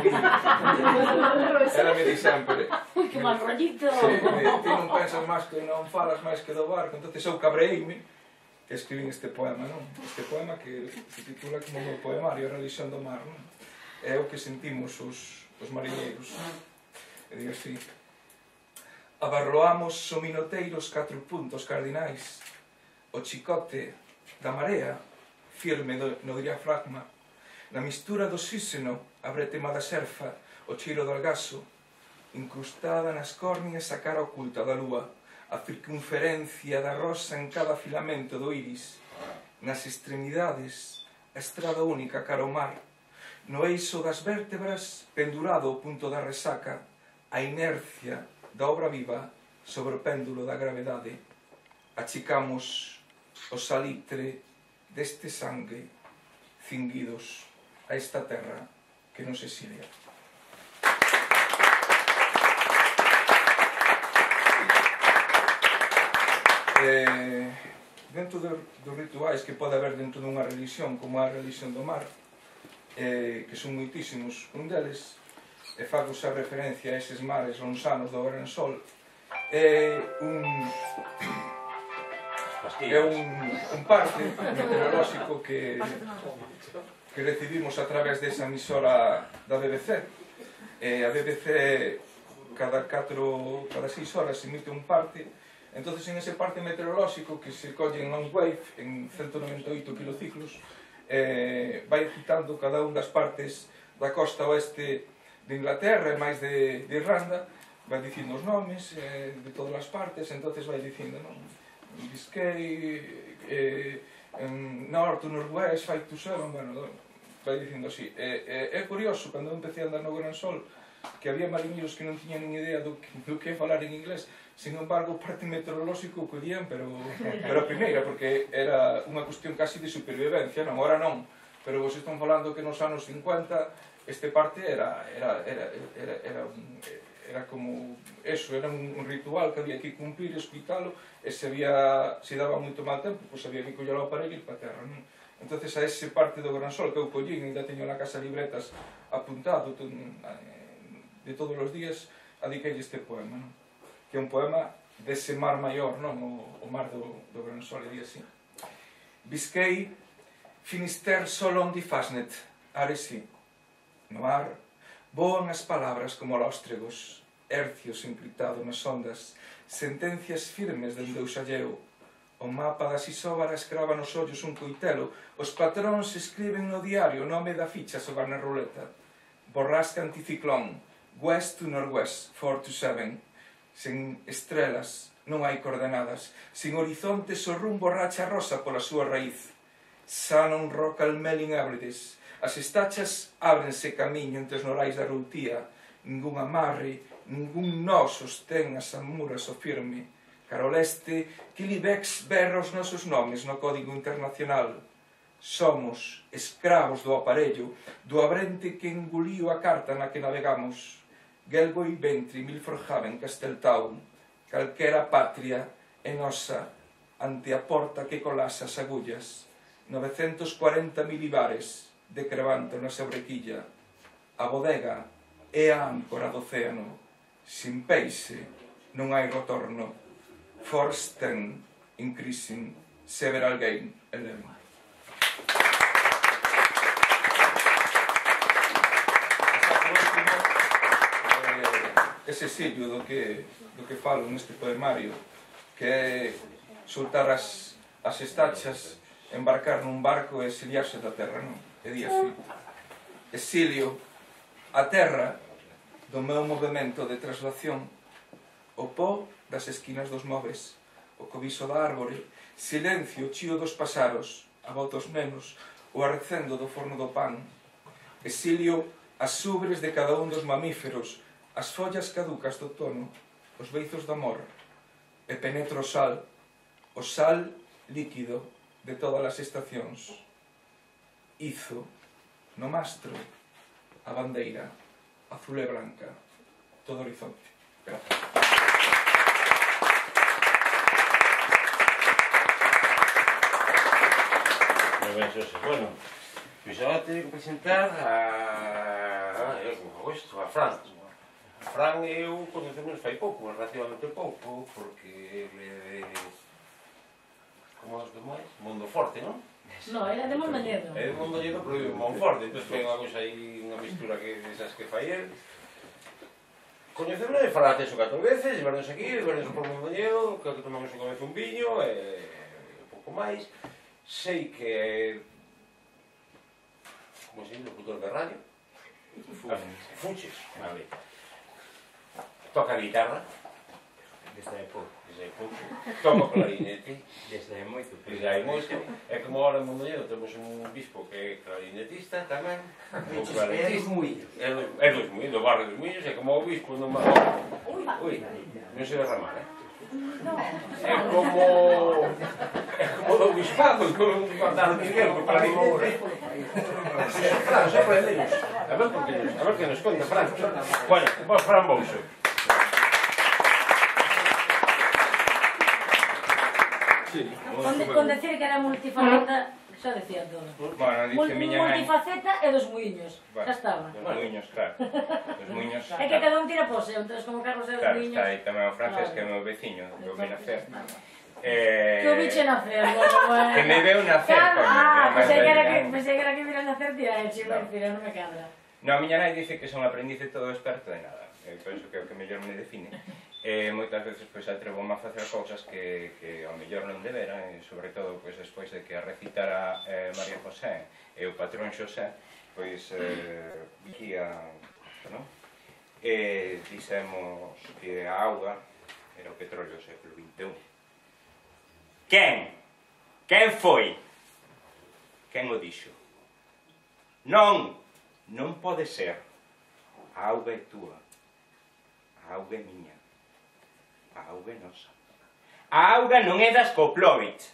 di sempre que mal rollito. ti non pensas máis que non falas máis que do barco, entonces eu cabreíme que escribín este poema, non? Este poema que se titula como o meu poemario, A religión do mar, non? É o que sentimos os mariñeiros. E digo así: abarroamos o minoteiro os 4 puntos cardinais, o chicote da marea firme no diafragma, na mistura do oxíxeno a bretema da xerfa, o cheiro do algaso, incrustada nas córneas a cara oculta da lúa, a circunferencia da rosa en cada filamento do iris, nas extremidades a estrada única cara ao mar, no eixo das vértebras pendurado ao punto da resaca, a inercia da obra viva sobre o péndulo da gravedade. Achicamos o salitre deste sangue cinguidos a esta terra que nos exilia. Dentro dos rituais que pode haber dentro dunha religión como a religión do mar, que son moitísimos, un deles, e fago xa referencia a eses mares lonxanos do Gran Sol, é un parte meteorolóxico que recibimos a través desa emisora da BBC. A BBC cada 6 horas emite un parte, entonces en ese parte meteorolóxico que se colle en long wave en 198 kilociclos, vai citando cada un das partes da costa oeste de Inglaterra e máis de Irlanda, vai dicindo os nomes de todas as partes, entonces vai dicindo, non? Biscay, North, Northwest, 5 to 7, bueno, vai dicindo así. É curioso, cando eu empecé a andar no Gran Sol, que había mariñeiros que non tiñan nin idea do que falar en inglés, sin embargo, o parte meteorolóxico collían, pero a primeira, porque era unha cuestión casi de supervivencia, non, ahora non, pero vos están falando que nos anos 50 este parte era como eso, era un ritual que había que cumplir, escuitalo, e se daba moito mal tempo, pois había que coller o aparello e ir para a terra, non? Entonces a ese parte do Gran Sol que eu collín, ainda teño na casa libretas apuntado de todos os días, adiquei este poema, non? Que é un poema dese mar maior, non? O mar do Gran Sol, e di así: Biscay, Finisterre, Solon di Fasnet, Aresi. No mar, voan as palabras como lóstregos, hercios implitados nas ondas, sentencias firmes dende o xalleo. O mapa das isóbaras crava nos ollos un coitelo, os patróns escriben no diario o nome da ficha sobre na ruleta. Borrasca anticiclón, west to northwest, 4 to 7. Sen estrelas, non hai coordenadas, sin horizontes o rumbo racha rosa pola súa raíz. Sanon roca almelin ábrides, as estachas ábrense camiño entre os norais da routía, ningún amarre, ningún nó sostén as amuras o firme. Cara ao leste, Quilibex berra os nosos nomes no Código Internacional. Somos escravos do aparello, do abrente que engoliu a carta na que navegamos. Gelboi, Ventri, Milfordhaven, Casteltown, calquera patria é nosa ante a porta que colasa as agullas. 940 milibares de crevanto na sobrequilla. A bodega é a áncora do océano. Sin peixe non hai retorno. Forsten increasing several gain 11. Ese sillo do que falo neste poemario, que é soltar as estachas, embarcar nun barco e exiliarse da terra, non? E di así: exilio, a terra do meu movimento de traslación, o pó das esquinas dos móveis, o cobiso da árbore, silencio, o chío dos pasaros, a voz dos nenos, o arrecendo do forno do pan, exilio as ubres de cada un dos mamíferos, as follas caducas do outono, os beizos do amor, e penetro o sal líquido de todas as estacións. Izo, no mastro, a bandeira, azul e blanca, todo horizonte. Gracias. Moi ben, Xosé. Bueno, pois agora teño que presentar a Fran. A Fran eu conocemos fai pouco, relativamente pouco, porque ele é como os demais, Mundo Forte, non? No, era de Mondoñedo. É de Mondoñedo, pero vive en Monforte, entón foi unha cousa aí, unha mistura que desas que fai el. Coñecemos de falar teso 4 veces, de vernos aquí, de vernos por Mondoñedo, creo que tomamos unha vez un viño, e un pouco máis. Sei que como se dice, locutor de radio. Fuches, vale. Toca guitarra. Desde hai pouco. Desde hai pouco. Toca clarinete. Desde hai moito. Desde hai moito. É como ahora en Mondoñedo temos un bispo que é clarinetista tamén. É dos Muiños. É dos Muiños, do barrio dos Muiños, é como o bispo non... Ui, non se derramar, É como do bispado, non mandar Miguel por clarinete. Fran, sorprendenos. A ver que nos conta, Fran. Bueno, vos, Fran Bouso. Con decir que era multifaceta, xa decía todo. Bueno, dice miña nai. Multifaceta e dos muiños. Xa estaba. Dos Muiños, claro. Dos Muiños. É que cada un tira po seu, entón como Carlos é dos Claro, muiños. está aí tamén o francés, que é o meu veciño, que o vi nacer. Que o biche nacer, bueno. Que me veu nacer, coño. Pensei que era que vira nacer tía, e chivo, non me cadra. No, a miña nai dice que son aprendiz de todo experto de nada. Penso que é o que mellor me define. Moitas veces pois atrevo-me a facer cousas que ao mellor non debera, e sobre todo pois despois de que a recitara María José e o patrón Xosé, pois aquí non? Dixemos que a auga era o petróleo do século XXI. Quen? Quen foi? Quen o dixo? Non! Non pode ser. A auga é túa. A auga é miña. A auga é nosa. A auga non é das Koplovich.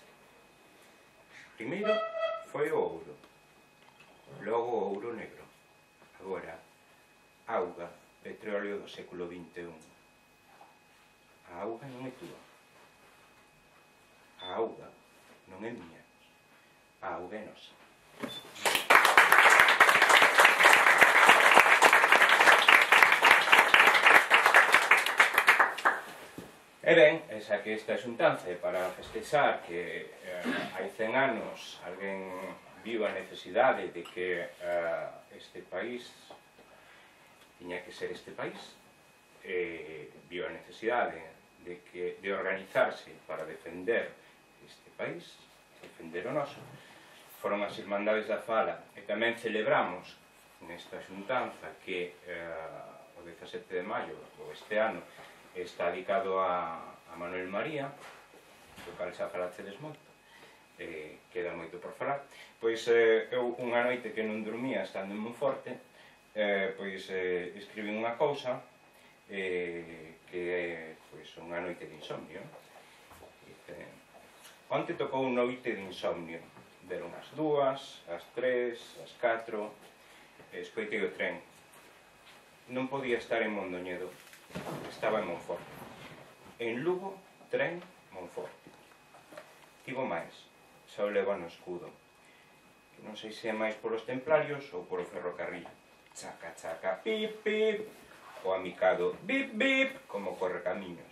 Primeiro foi o ouro. Logo o ouro negro. Agora, auga, petróleo do século XXI. A auga non é túa. A auga non é miña. A auga é nosa. E ben, esa que esta xuntanza é para festexar que hai 100 anos alguén viu a necesidade de que este país tiña que ser este país, viu a necesidade de organizarse para defender este país, defender o noso. Foron as Irmandades da Fala, e tamén celebramos nesta xuntanza que o 17 de maio, ou este ano, está dedicado a Manuel María, do cal xa falachedes moito, queda moito por falar. Pois eu unha noite que non dormía estando en Monforte, pois escribín unha cousa que é unha noite de insomnio. Onte tocou noite de insomnio, deron as 2, as 3, as 4, escoitei o tren. Non podía estar en Mondoñedo, estaba en Monforte. En Lugo, tren, Monforte. Tivo máis, xa o leva no escudo. Non sei se é máis polos templarios ou polo ferrocarril. Chaca, chaca, pip, pip. O amicado, bip, bip, como correcamiños.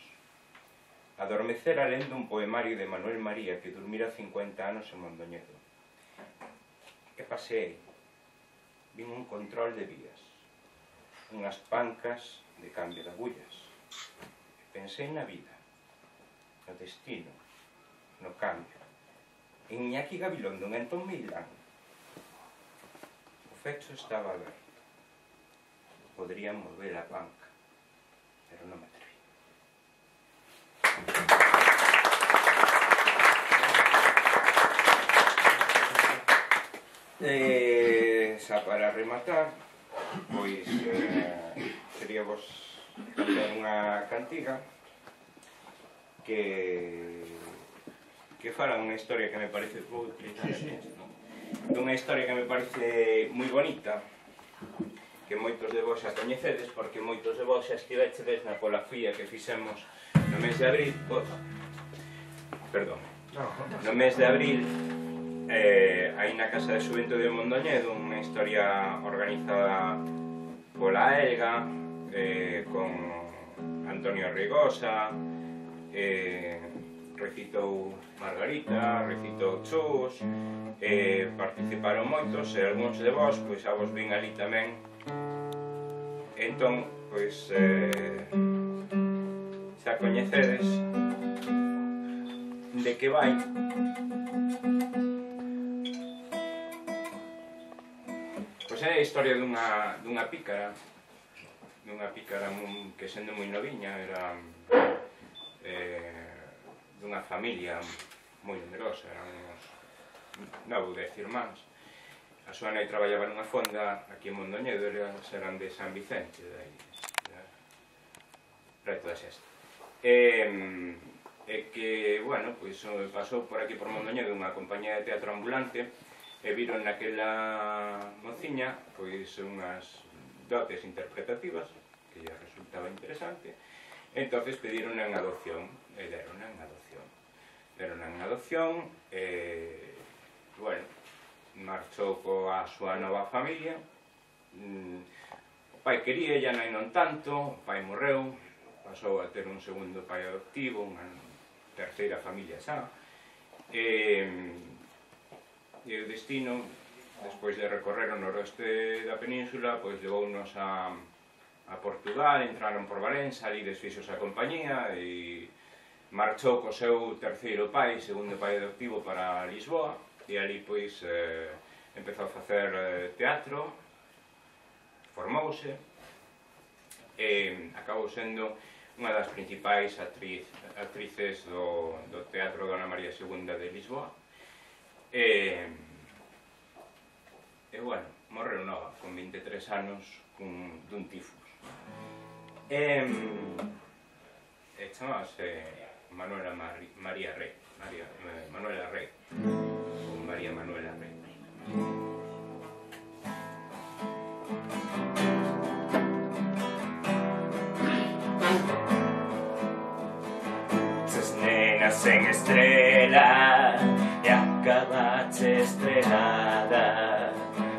Adormecera lendo un poemario de Manuel María que durmira 50 anos en Mondoñedo. E paseei. Vin un control de vías. Unhas pancas de cambio de agullas. Pensei na vida, no destino, no cambio. En Iñaki Gabilondo, en Antón Meilán. O fecho estaba aberto. podría mover a banca, pero non me atreví. Xa para rematar, pois sería vos contar unha cantiga que fala unha historia que me parece dunha historia que me parece moi bonita, que moitos de vos xa coñecedes, porque moitos de vos xa estivechedes na polafía que fixemos no mes de abril, no mes de abril, aí na Casa de Xuventude de Mondoñedo, unha historia organizada pola Elga, con Antonio Rigosa, recitou Margarita, recitou Chus, participaron moitos, e algúns de vos, pois xa vos vin ali tamén. Entón, pois, xa coñecedes de que vai. Pois é a historia dunha pícara que sendo moi noviña era dunha familia moi numerosa, eran uns 9 ou 10 irmáns. A súa nai traballaba nunha fonda aquí en Mondoñedo, eran de San Vicente, preto da Xesta. E que, bueno, pois pasou por aquí por Mondoñedo unha compañía de teatro ambulante e viron naquela mociña pois unhas dotes interpretativas que lle resultaba interesante, e entonces pediron en adopción e deron en adopción e, bueno, marchou coa súa nova familia. O pai quería, e a nai non tanto, o pai morreu, pasou a ter un segundo pai adoptivo, unha terceira familia xa, e o destino, despois de recorrer o noroeste da península, pois levounos a Portugal, entraron por Valença, ali desfixos a compañía e marchou co seu terceiro pai, segundo pai adoptivo, para Lisboa, e ali pois empezou a facer teatro, formouse e acabou sendo unha das principais actrices do Teatro Dona María II de Lisboa. E, bueno, morreu nova, con 23 anos, dun tifus. E chamábase Manuela María Rey, Manuela Rey, ou María Manuela Rey. Ches nenas en estrela e acabache estrelada,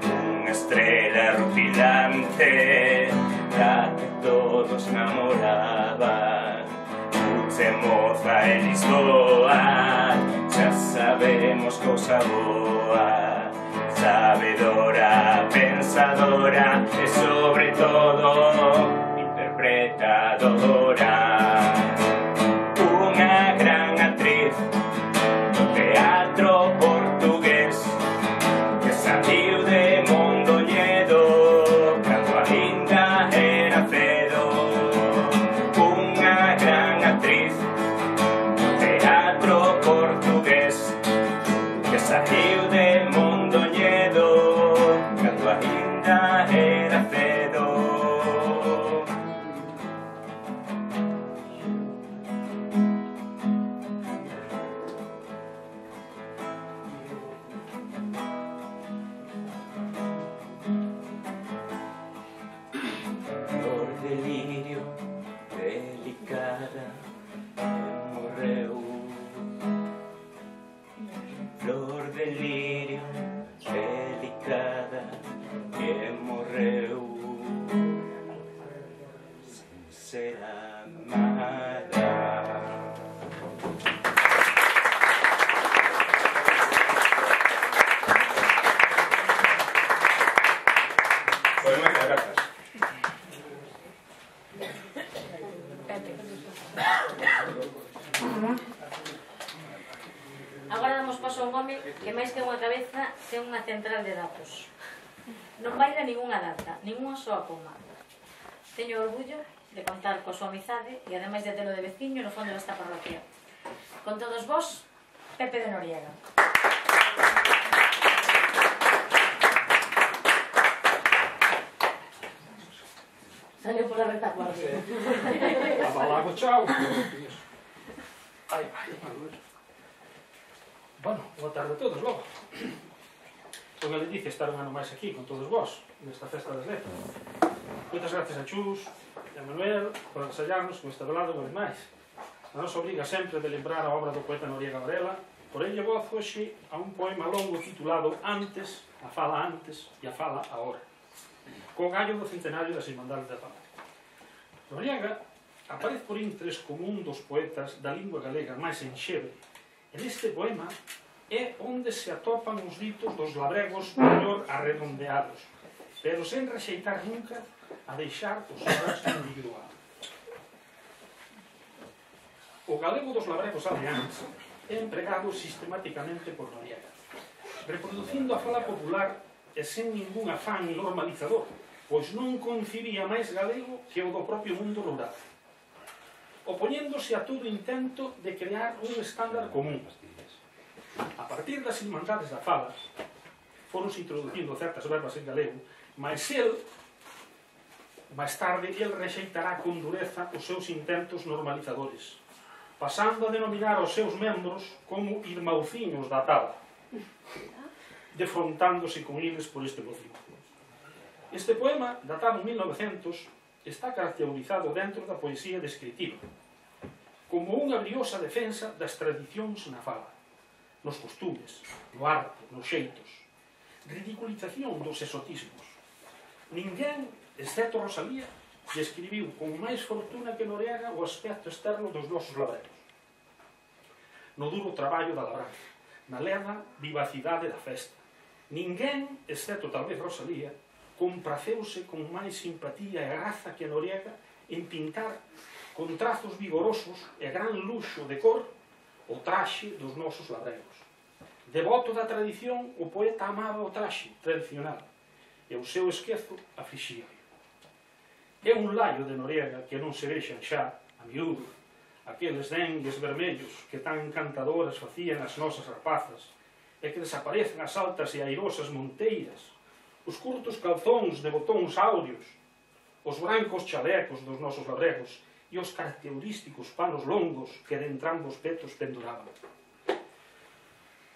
unha estrela rutilante da que todos namoraban. Uche moza en Lisboa, xa sabemos cousa boa, sabedora, pensadora e sobre todo interpretadora. Unha gran actriz do teatro portugués que saiu de Mondoñedo cando ainda era cedo. Unha gran actriz do teatro portugués que saiu de Mondoñedo cando ainda era cedo. Flor de lirio delicada que morreu. Flor de lirio delicada que morreu sen ser amada. Pois moitas grazas. Agora damos paso a un home que máis que unha cabeza ten unha central de datos. Non baila ningunha data, ningunha soa coma. Teño orgullo de contar coa súa amizade e ademais de telo de veciño no fondo desta parroquia. Con todos vós, Pepe de Noriega. Salió pola retaguarda. Abalago, chao. Ai, vai. Bueno, boa tarde a todos, logo. Son a Leticia estar un ano máis aquí con todos vós, nesta festa das letras. Moitas gracias a Chus e a Manuel por agasallarnos con esta velada unha vez máis. A nos obriga sempre de lembrar a obra do poeta Noriega Varela, por elle voz hoxe a un poema longo titulado Antes, a fala antes e a fala agora, co gallo do centenario das Irmandades da Paz. Noriega aparece por intres como un dos poetas da lingua galega máis enxebre, e neste poema é onde se atopan os ditos dos labregos mellor arredondeados, pero sen rexeitar nunca a deixar o seu rastro individual. O galego dos labregos aleáns é empregado sistematicamente por Noriega, reproducindo a fala popular e sen ningún afán normalizador, pois non concibía máis galego que o do propio mundo rural, opoñéndose a todo intento de crear un estándar común. A partir das Irmandades da fala, foron introducindo certas verbas en galego, mas máis tarde, el rexeitará con dureza os seus intentos normalizadores, pasando a denominar os seus membros como irmauciños da tala, defrontándose con eles por este motivo. Este poema, datado en 1900, está caracterizado dentro da poesía descritiva, como unha briosa defensa das tradicións na fala, nos costumes, no arte, nos xeitos, ridiculización dos exotismos. Ninguén, excepto Rosalía, describiu con máis fortuna que Noriega o aspecto externo dos nosos labregos. No duro traballo da labranza, na lerda vivacidade da festa. Ninguén, excepto talvez Rosalía, compraceuse con máis simpatía e graza que Noriega en pintar con trazos vigorosos e gran luxo de cor o traxe dos nosos labregos. Devoto da tradición, o poeta amaba o traxe tradicional e o seu esquezo aflixía. É un laio de Noriega que non se vexan xa, a miúdo, aqueles dengues vermellos que tan encantadoras facían as nosas rapazas e que desaparecen as altas e airosas monteiras, os curtos calzóns de botóns áureos, os brancos chalecos dos nosos labregos e os característicos panos longos que de entrambos petos penduraban.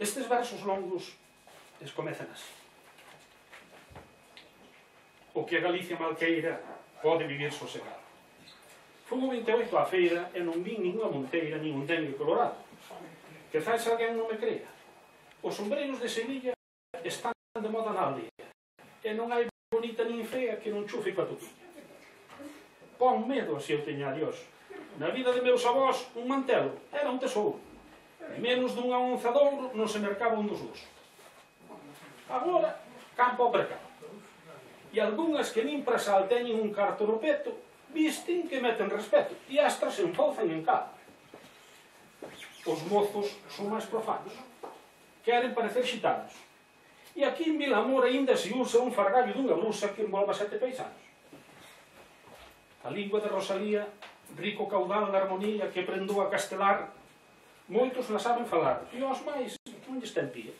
Estes versos longos comezan así. O que a Galicia malqueira pode vivir sosegado. Fun o 28 á feira e non vin ninguna monteira nin un dengue colorado. Quizás alguén non me crea. Os sombreiros de Sevilla están de moda na aldea e non hai bonita nin fea que non chufe coa toquilla. Pon medo se eu teña a Dios. Na vida de meus avós, un mantelo era un tesouro. E menos dunha onza de ouro non se mercaba un dos dous. Agora, campo ao mercado. E algunhas que nin para sal teñen un carto no peto, visten que meten respeto e astras se enfauzan en cada. Os mozos son máis profanos. Queren parecer xitanos. E aquí en Vilamor ainda se usa un fargallo dunha blusa que envolva 7 paisanos. A lingua de Rosalía, rico caudal de armonía que prendou a castelar, moitos la saben falar, e os máis non lles ten pía.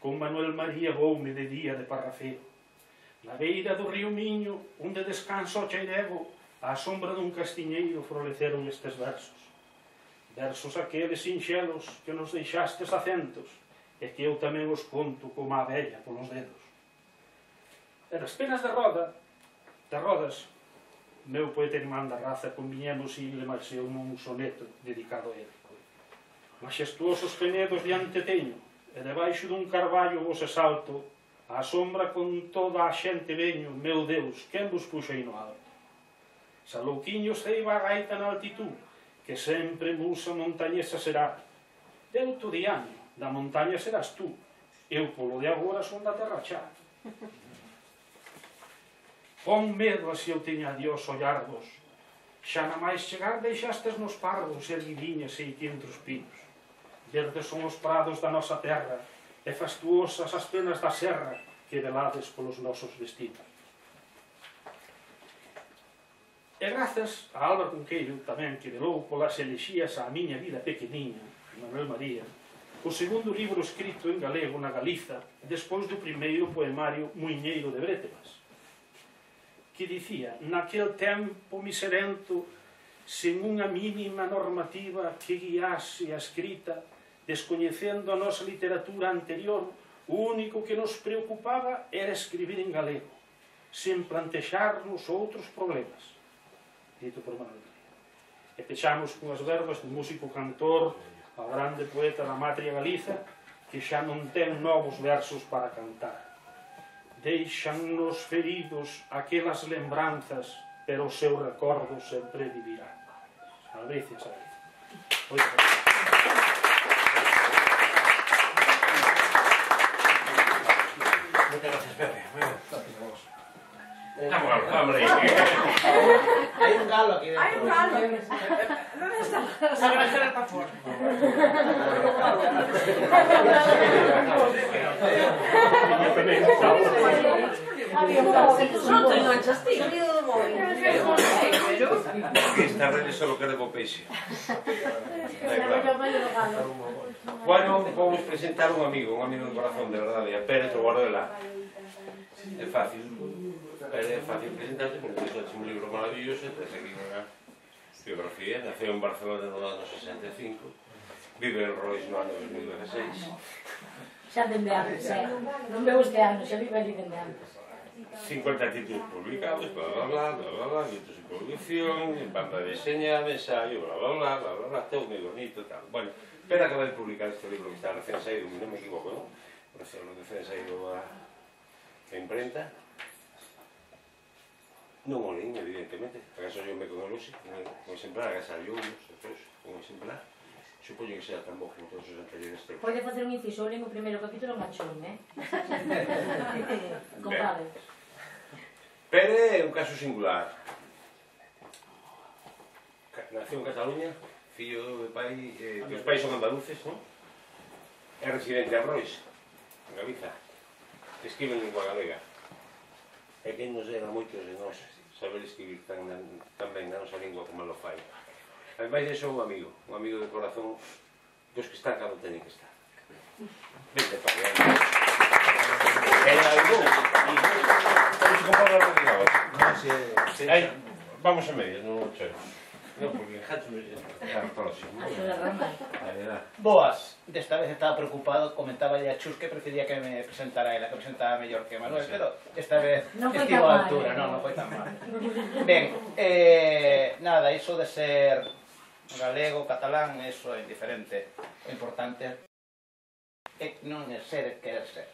con Manuel María voume de día de parrafeo. Na beira do río Miño, onde descanso o chairego, á sombra dun castiñeiro floreceron estes versos. Versos aqueles sinxelos que nos deixastes acentos, e que eu tamén os conto como a vella polos dedos. E das penas de rodas, meu poeta irmán da raza conviñemos e le marxeu nun soneto dedicado a ele. Majestuosos penedos diante teño, e debaixo dun carballo vos exalto, á sombra con toda a xente veño, meu Deus, quen vos puxei no alto? Salouquiños ceiba a gaita na altitud, que sempre musa montañesa será. Deuto de año, da montaña serás tú, eu polo de agora son da terra xa. Pon medo a se eu teña a Dios ollarvos, xa na máis chegar deixastes nos parvos erguidiñas e aquí entre os pinos. Verdes son os prados da nosa terra, e fastuosas as penas da serra que velades polos nosos destinos. E grazas a Álvaro Cunqueiro tamén, que velou polas elexías á miña vida pequeniña, Manuel María, o segundo libro escrito en galego na Galiza, despois do primeiro poemario Muiñeiro de Brétemas, que dicía: naquel tempo miserento, sen unha mínima normativa que guiase a escrita, descoñecendo a nosa literatura anterior, o único que nos preocupaba era escribir en galego, sen plantexarnos outros problemas. Dito por Manuel María. E pechamos con as verbas do músico cantor, ao grande poeta da Matria Galiza, que xa non ten novos versos para cantar. Deixan-nos feridos aquelas lembranzas, pero o seu recordo sempre vivirá. Albricias, Albricias. Muchas gracias, Pepe. Vamos ahí. Hay un galo aquí dentro. Hay un galo. ¿Dónde está? Se va a hacer el pafón. Esta rede solo queda co peixe. Bueno, vamos presentar un amigo de corazón, de verdade, a Pérez Guardela. É fácil presentarse, porque tens un libro maravilloso, tens aquí unha biografía, naceu en Barcelona no ano 65, vive en Rois no ano 2016. Xa dende antes, non veo este ano, xa vive ali dende antes. 50 títulos publicados, libros de producción, banda de diseñar, ensayo, todo moi bonito, tal. Bueno, pero acaba de publicar este libro que está recién saído, non me equivoco, non? Recién saído a imprenta. Non o leín, evidentemente, acaso yo me con el Lucy, con exemplar, acaso yo un exemplar. Supoño que sea tan bo como todos os anteriores textos. Pode facer un inciso, o primeiro capítulo machón, Comprade. Pero é un caso singular. Naceu en Cataluña, fillo de pai, que os pais son andaluces, non? É residente en Rois, en Galiza. Escribe en lingua galega. E que nos era moitos de nós saber escribir tan ben na nosa lingua como lo fai. Ademais, é un amigo de corazón dos que están cando teñen que estar. Vente para allá. Era algún. Vamos a comprar la realidad. Vamos a medias, non o cheo. Non, porque en Hatch é a próxima. Boas, desta vez estaba preocupado, comentaba a Chus que prefería que me presentara ela, que presentaba mellor que Manuel, pero esta vez estivo a altura, non foi tan mal. Ben, nada, iso de ser galego, catalán, eso é indiferente. O importante é non é ser, é querer ser.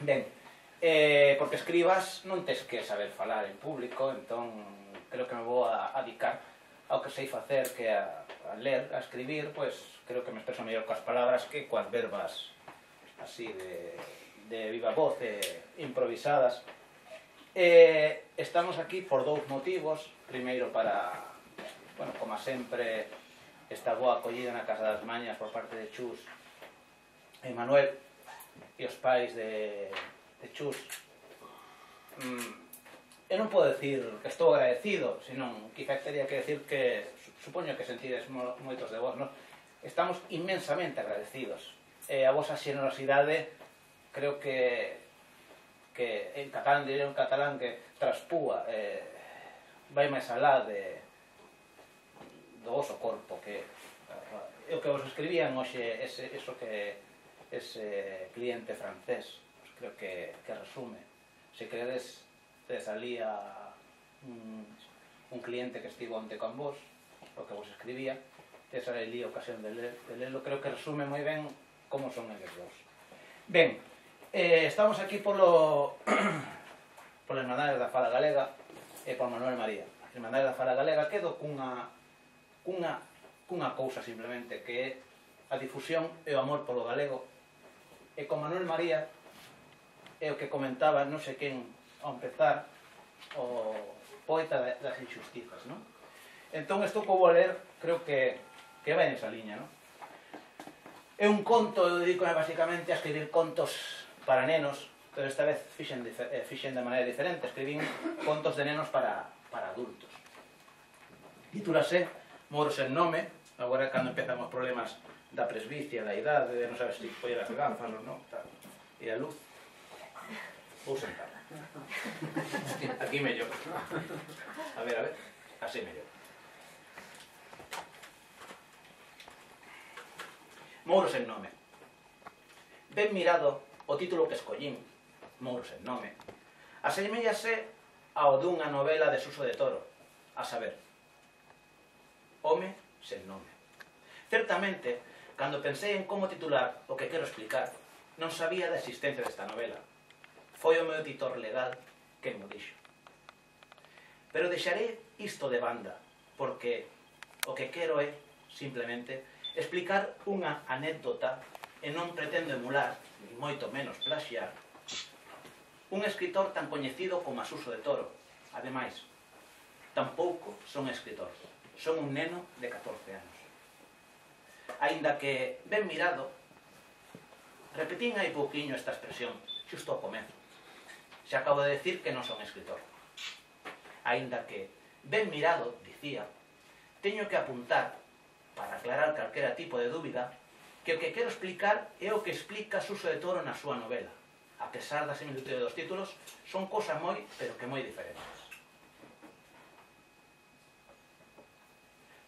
Ben, porque escribas non tes que saber falar en público, entón creo que me vou a dedicar ao que sei facer, que a ler, a escribir, pois creo que me expreso mellor coas palabras que coas verbas así de viva voz, improvisadas. Estamos aquí por dous motivos. Primeiro para, bueno, como sempre, esta boa acollida na Casa das Mañas por parte de Chus e Manuel e os pais de Chus. Eu non podo decir que estou agradecido, senón quizá teria que decir que supoño que sentides moitos de vos, non? Estamos inmensamente agradecidos a vosa xenerosidade creo que en catalán, diré en catalán, que traspúa, vai máis alá do voso corpo, que o que vos escribían hoxe, eso que ese cliente francés, pues creo que resume. Se queredes, salía un cliente que estivo onte con vos, o que vos escribía, esa ali a ocasión de lelo, creo que resume moi ben como son eles dous. Ben, estamos aquí pola Hermandade da Fala Galega e por Manuel María. A Hermandade da Fala Galega quedo cunha cousa simplemente, que é a difusión e o amor polo galego, e con Manuel María é o que comentaba non sei quen ao empezar, o poeta das injustizas, non? Entón, isto que vou ler creo que vai nesa liña, non? É un conto, eu dedico basicamente a escribir contos para nenos, pero esta vez fixen de maneira diferente, escribín contos de nenos para adultos. Titúlase Moros en nome, agora cando empezan os problemas da presbicia, da idade, de non sabes se poñer as gafas ou non, e a luz. Vou sentar. Aquí mellor. A ver, así mellor. Mouros en nome. Ben mirado o título que escollín, Mouros en nome, asemellase ao dunha novela de Suso de Toro, a saber, Home sen nome. Certamente, cando pensei en como titular o que quero explicar, non sabía da existencia desta novela. Foi o meu editor legal quen mo dixo. Pero deixaré isto de banda, porque o que quero é, simplemente, explicar unha anécdota e non pretendo emular, ni moito menos plaxiar, un escritor tan coñecido como a Suso de Toro. Ademais, tampouco son escritor, son un neno de 14 anos. Aínda que, ben mirado, repetín hai pouquiño esta expresión, xusto ao comezo. Se acabo de decir que non son escritor. Aínda que, ben mirado, dicía, teño que apuntar, para aclarar calquera tipo de dúbida, que o que quero explicar é o que explica Suso de Toro na súa novela. A pesar da similitude dos títulos, son cosas moi, pero que moi diferentes.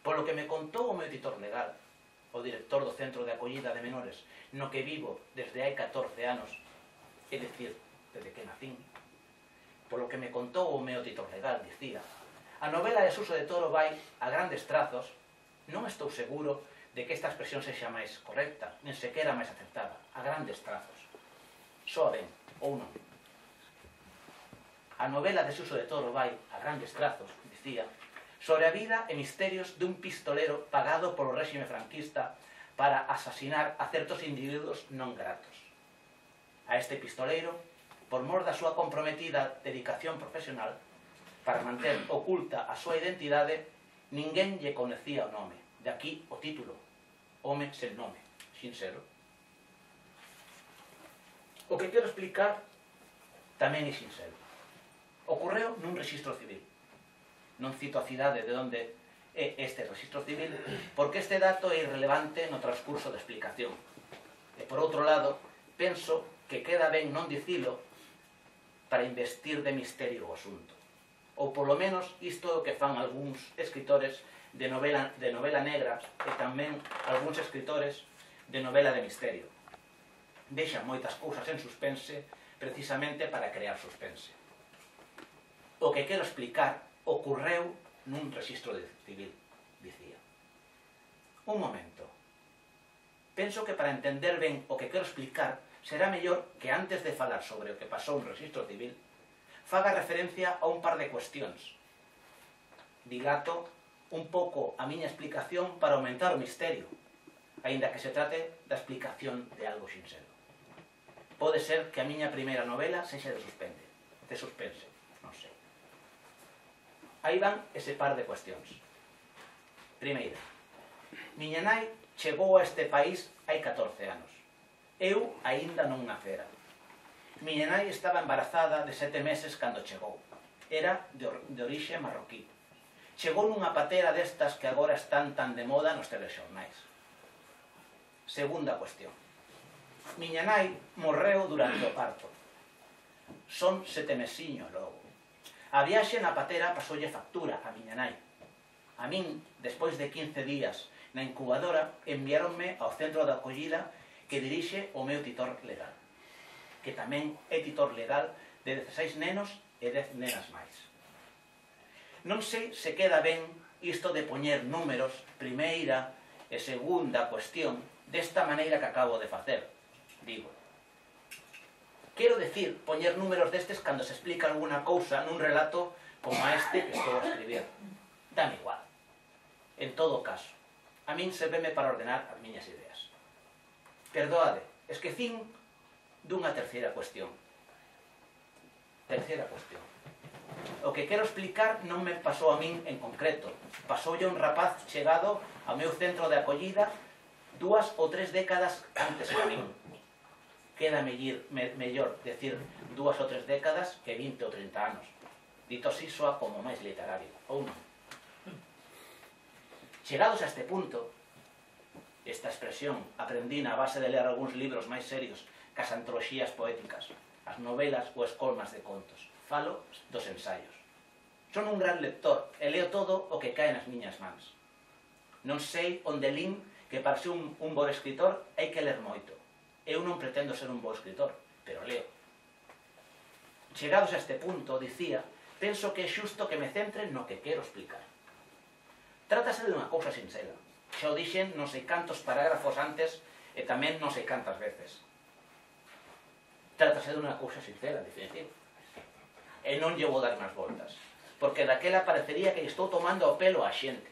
Polo que me contou o meu editor legal, o director do Centro de Acollida de Menores, no que vivo desde hai 14 anos, é dicir, desde que nacín, polo que me contou o meu editor legal, dicía, a novela de Suso de Toro vai, a grandes trazos, non estou seguro de que esta expresión sexa máis correcta, nen sequera máis acertada, a grandes trazos. Soa ben, ou non. A novela de Suso de Toro vai, a grandes trazos, dicía, sobre a vida e misterios dun pistolero pagado polo réxime franquista para asasinar a certos individuos non gratos. A este pistoleiro, por mor da súa comprometida dedicación profesional, para manter oculta a súa identidade, ninguén lle conocía o nome. De aquí o título, Home sen nome, sinxelo. O que quero explicar tamén é sinxelo. Ocorreu nun rexistro civil. Non cito a cidade de onde é este rexistro civil, porque este dato é irrelevante no transcurso da explicación. E por outro lado, penso que queda ben non dicilo para investir de misterio o asunto. Ou polo menos isto é o que fan algúns escritores de novela negra e tamén algúns escritores de novela de misterio. Deixan moitas cousas en suspense precisamente para crear suspense. O que quero explicar ocorreu nun rexistro civil, dicía. Un momento. Penso que para entender ben o que quero explicar será mellor que antes de falar sobre o que pasou no rexistro civil faga referencia a un par de cuestións. Dilato un pouco a miña explicación para aumentar o misterio, aínda que se trate da explicación de algo sinxelo. Pode ser que a miña primeira novela sexa de suspense, non sei. Aí van ese par de cuestións. Primeira, miña nai chegou a este país hai 14 anos. Eu aínda non nacera. Miña nai estaba embarazada de 7 meses cando chegou. Era de orixe marroquí. Chegou nunha patera destas que agora están tan de moda nos telexornais. Segunda cuestión. Miña nai morreu durante o parto. Son 7 mesiños logo. A viaxe na patera pasoulle factura a miña nai. A min, despois de 15 días na incubadora, enviáronme ao centro de acollida que dirixe o meu titor legal, que tamén é titor legal de 16 nenos e 10 nenas máis. Non sei se queda ben isto de poñer números, primeira e segunda cuestión, desta maneira que acabo de facer, digo. Quero decir, poñer números destes cando se explica alguna cousa nun relato como a este que estou a escribir. Dame igual. En todo caso, a min serveme para ordenar as miñas ideas. Perdoade, esquecín dunha terceira cuestión. Terceira cuestión. O que quero explicar non me pasou a min en concreto. Pasoulle un rapaz chegado ao meu centro de acollida 2 ou 3 décadas antes que a min. Queda mellor decir 2 ou 3 décadas que 20 ou 30 anos. Dito así soa como máis literario, ou non? Chegados a este punto, esta expresión aprendina a base de ler algúns libros máis serios que as antoloxías poéticas, as novelas ou escolmas de contos. Falo dos ensaios. Son un gran lector e leo todo o que cae nas miñas mans. Non sei onde lin que para ser un bo escritor hai que ler moito. Eu non pretendo ser un bo escritor, pero leo. Chegados a este punto, dicía, penso que é xusto que me centre no que quero explicar. Trátase de unha cousa sinxela. Xa o dixen non sei cantos parágrafos antes e tamén non sei cantas veces. Trátase de unha cousa sinxela, en definitiva. E non lle vou dar máis voltas, porque daquela parecería que estou tomando o pelo a xente.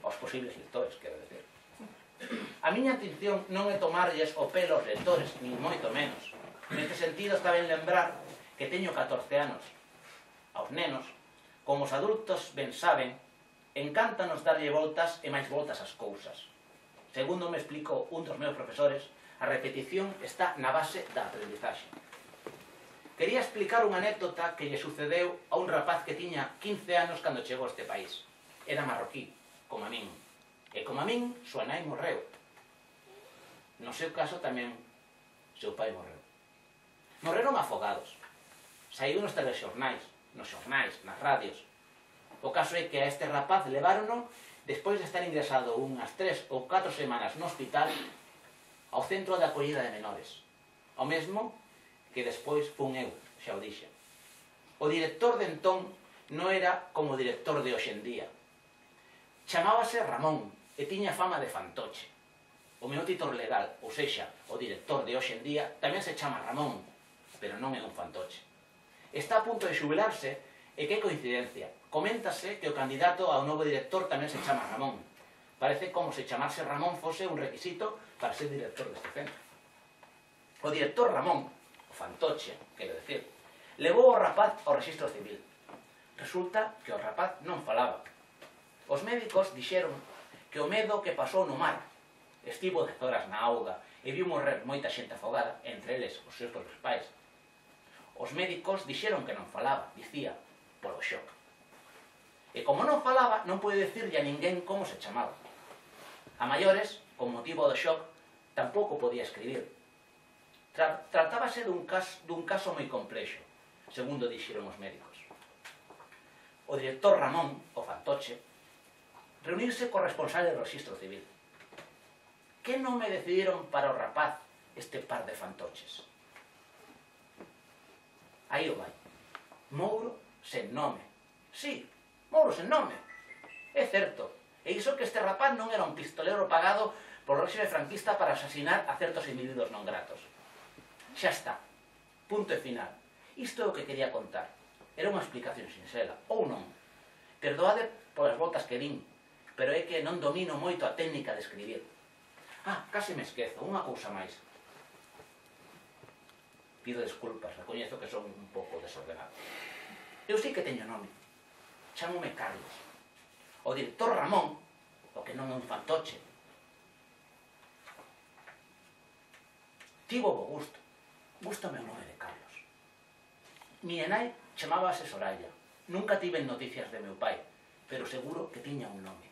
Aos posibles lectores, quero decir. A miña atención non é tomarlles o pelo aos lectores, nin moito menos. Neste sentido está ben lembrar que teño 14 anos. Aos nenos, como os adultos ben saben, encántanos darlle voltas e máis voltas ás cousas. Segundo me explicou un dos meus profesores, a repetición está na base da aprendizaxe. Quería explicar unha anécdota que lle sucedeu a un rapaz que tiña 15 anos cando chegou a este país. Era marroquí, como a min. E como a min, súa nai morreu. No seu caso tamén, seu pai morreu. Morreron afogados. Saíu nos telexornais, nas radios. O caso é que a este rapaz levárono, despois de estar ingresado unhas 3 ou 4 semanas no hospital, ao centro de acollida de menores. O mesmo que despois fun eu, xa o dixen. O director de entón non era como o director de hoxendía. Chamábase Ramón e tiña fama de fantoche. O meu titor legal, ou sexa, o director de hoxendía, tamén se chama Ramón, pero non é un fantoche. Está a punto de xubilarse e que coincidencia. Coméntase que o candidato ao novo director tamén se chama Ramón. Parece como se chamarse Ramón fose un requisito para ser director deste centro. O director Ramón, o fantoche, quero decir, levou o rapaz ao rexistro civil. Resulta que o rapaz non falaba. Os médicos dixeron que o medo que pasou no mar, estivo 10 horas na auga e viu morrer moita xente afogada, entre eles os seus propios pais. Os médicos dixeron que non falaba, dicía, polo shock. E como non falaba, non pode dicirlle a ninguén como se chamaba. A maiores, con motivo do shock, tampouco podía escribir. Tratábase dun caso moi complexo, segundo dixeron os médicos. O director Ramón, o fantoche, reunirse co responsable do rexistro civil. Que non me decidiron para o rapaz este par de fantoches? Aí o vai. Mouro sen nome. Sí, Mouro sen nome. É certo. E iso que este rapaz non era un pistolero pagado polo réxime franquista para asasinar a certos individuos non gratos. Xa está. Punto e final. Isto é o que quería contar. Era unha explicación sinxela, ou non. Perdoade polas voltas que din, pero é que non domino moito a técnica de escribir. Case me esquezo, unha cousa máis. Pido desculpas, recoñezo que son un pouco desordenado. Eu sei que teño nome. Chámome Carlos. O director Ramón, o que non é un fantoche, tivo bo gusto. Gústame o nome de Carlos. Miña nai chamábase Soraya. Nunca tiven noticias de meu pai, pero seguro que tiña un nome.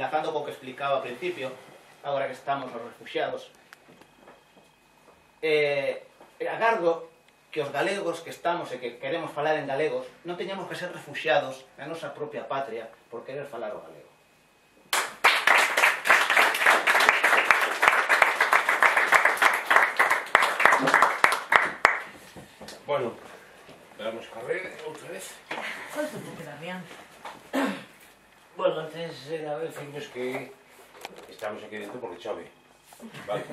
enlazando co que explicaba ao principio, agora que estamos os refugiados, agardo que os galegos que estamos e que queremos falar en galegos non teñamos que ser refugiados na nosa propia patria por querer falar o galego. Bueno, vamos a carrer outra vez. ¿Cuánto te queda bien? Bueno, antes era decirnos que estamos aquí dentro porque chove. Vale,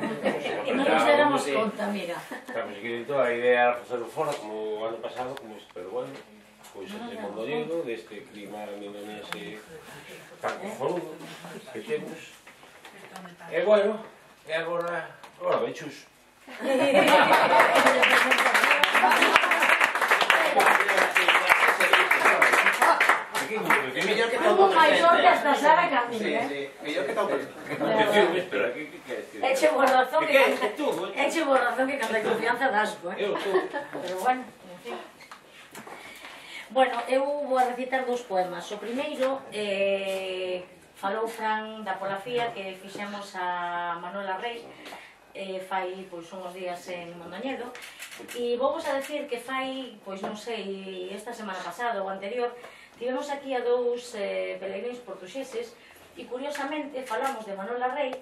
y no nos éramos conta, mira. Estamos aquí dentro, a idea era facerlo fora como o ano pasado, como isto, pero bueno, cousas de Mondoñedo, deste clima mindonense tan cojonudo que temos. E bueno, e agora bechus. Mellor que Como maior que hasta sabe caminar, Sí, mellor que todo. Espera, que eche boa razón que cando hai confianza das, pero bueno, en fin. Bueno, eu vou a recitar dous poemas. O primeiro falou Fran da Polafía que fixemos a Manuela Rey fai pois uns días en Mondoñedo e vou vos a decir que fai, pois non sei, esta semana pasada ou anterior tivemos aquí a dous pelegrinos portugueses e curiosamente falamos de Manuela Rey,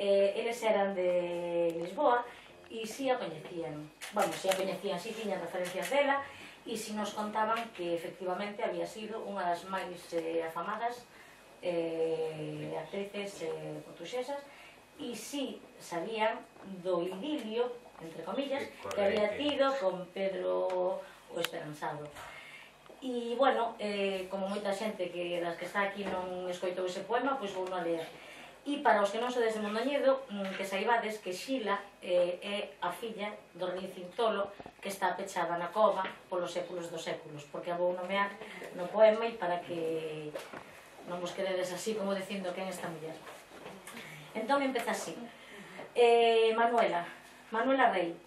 eles eran de Lisboa e si a coñecían, bueno, si a coñecían, si tiñan referencias dela e si nos contaban que efectivamente había sido unha das máis afamadas actrices portuguesas e si sabían do idilio, entre comillas, que había tido con Pedro o Esperanzado. E, bueno, como moita xente que das que está aquí non escoitou ese poema, pois vou non ler. E para os que non sodes de Mondoñedo, que saibades que Xila é a filla do rei Cintolo que está pechada na cova polos séculos dos séculos, porque a vou nomear no poema e para que non vos quededes así como dicindo quen é esta muller. Entón empeza así. Manuela Rey,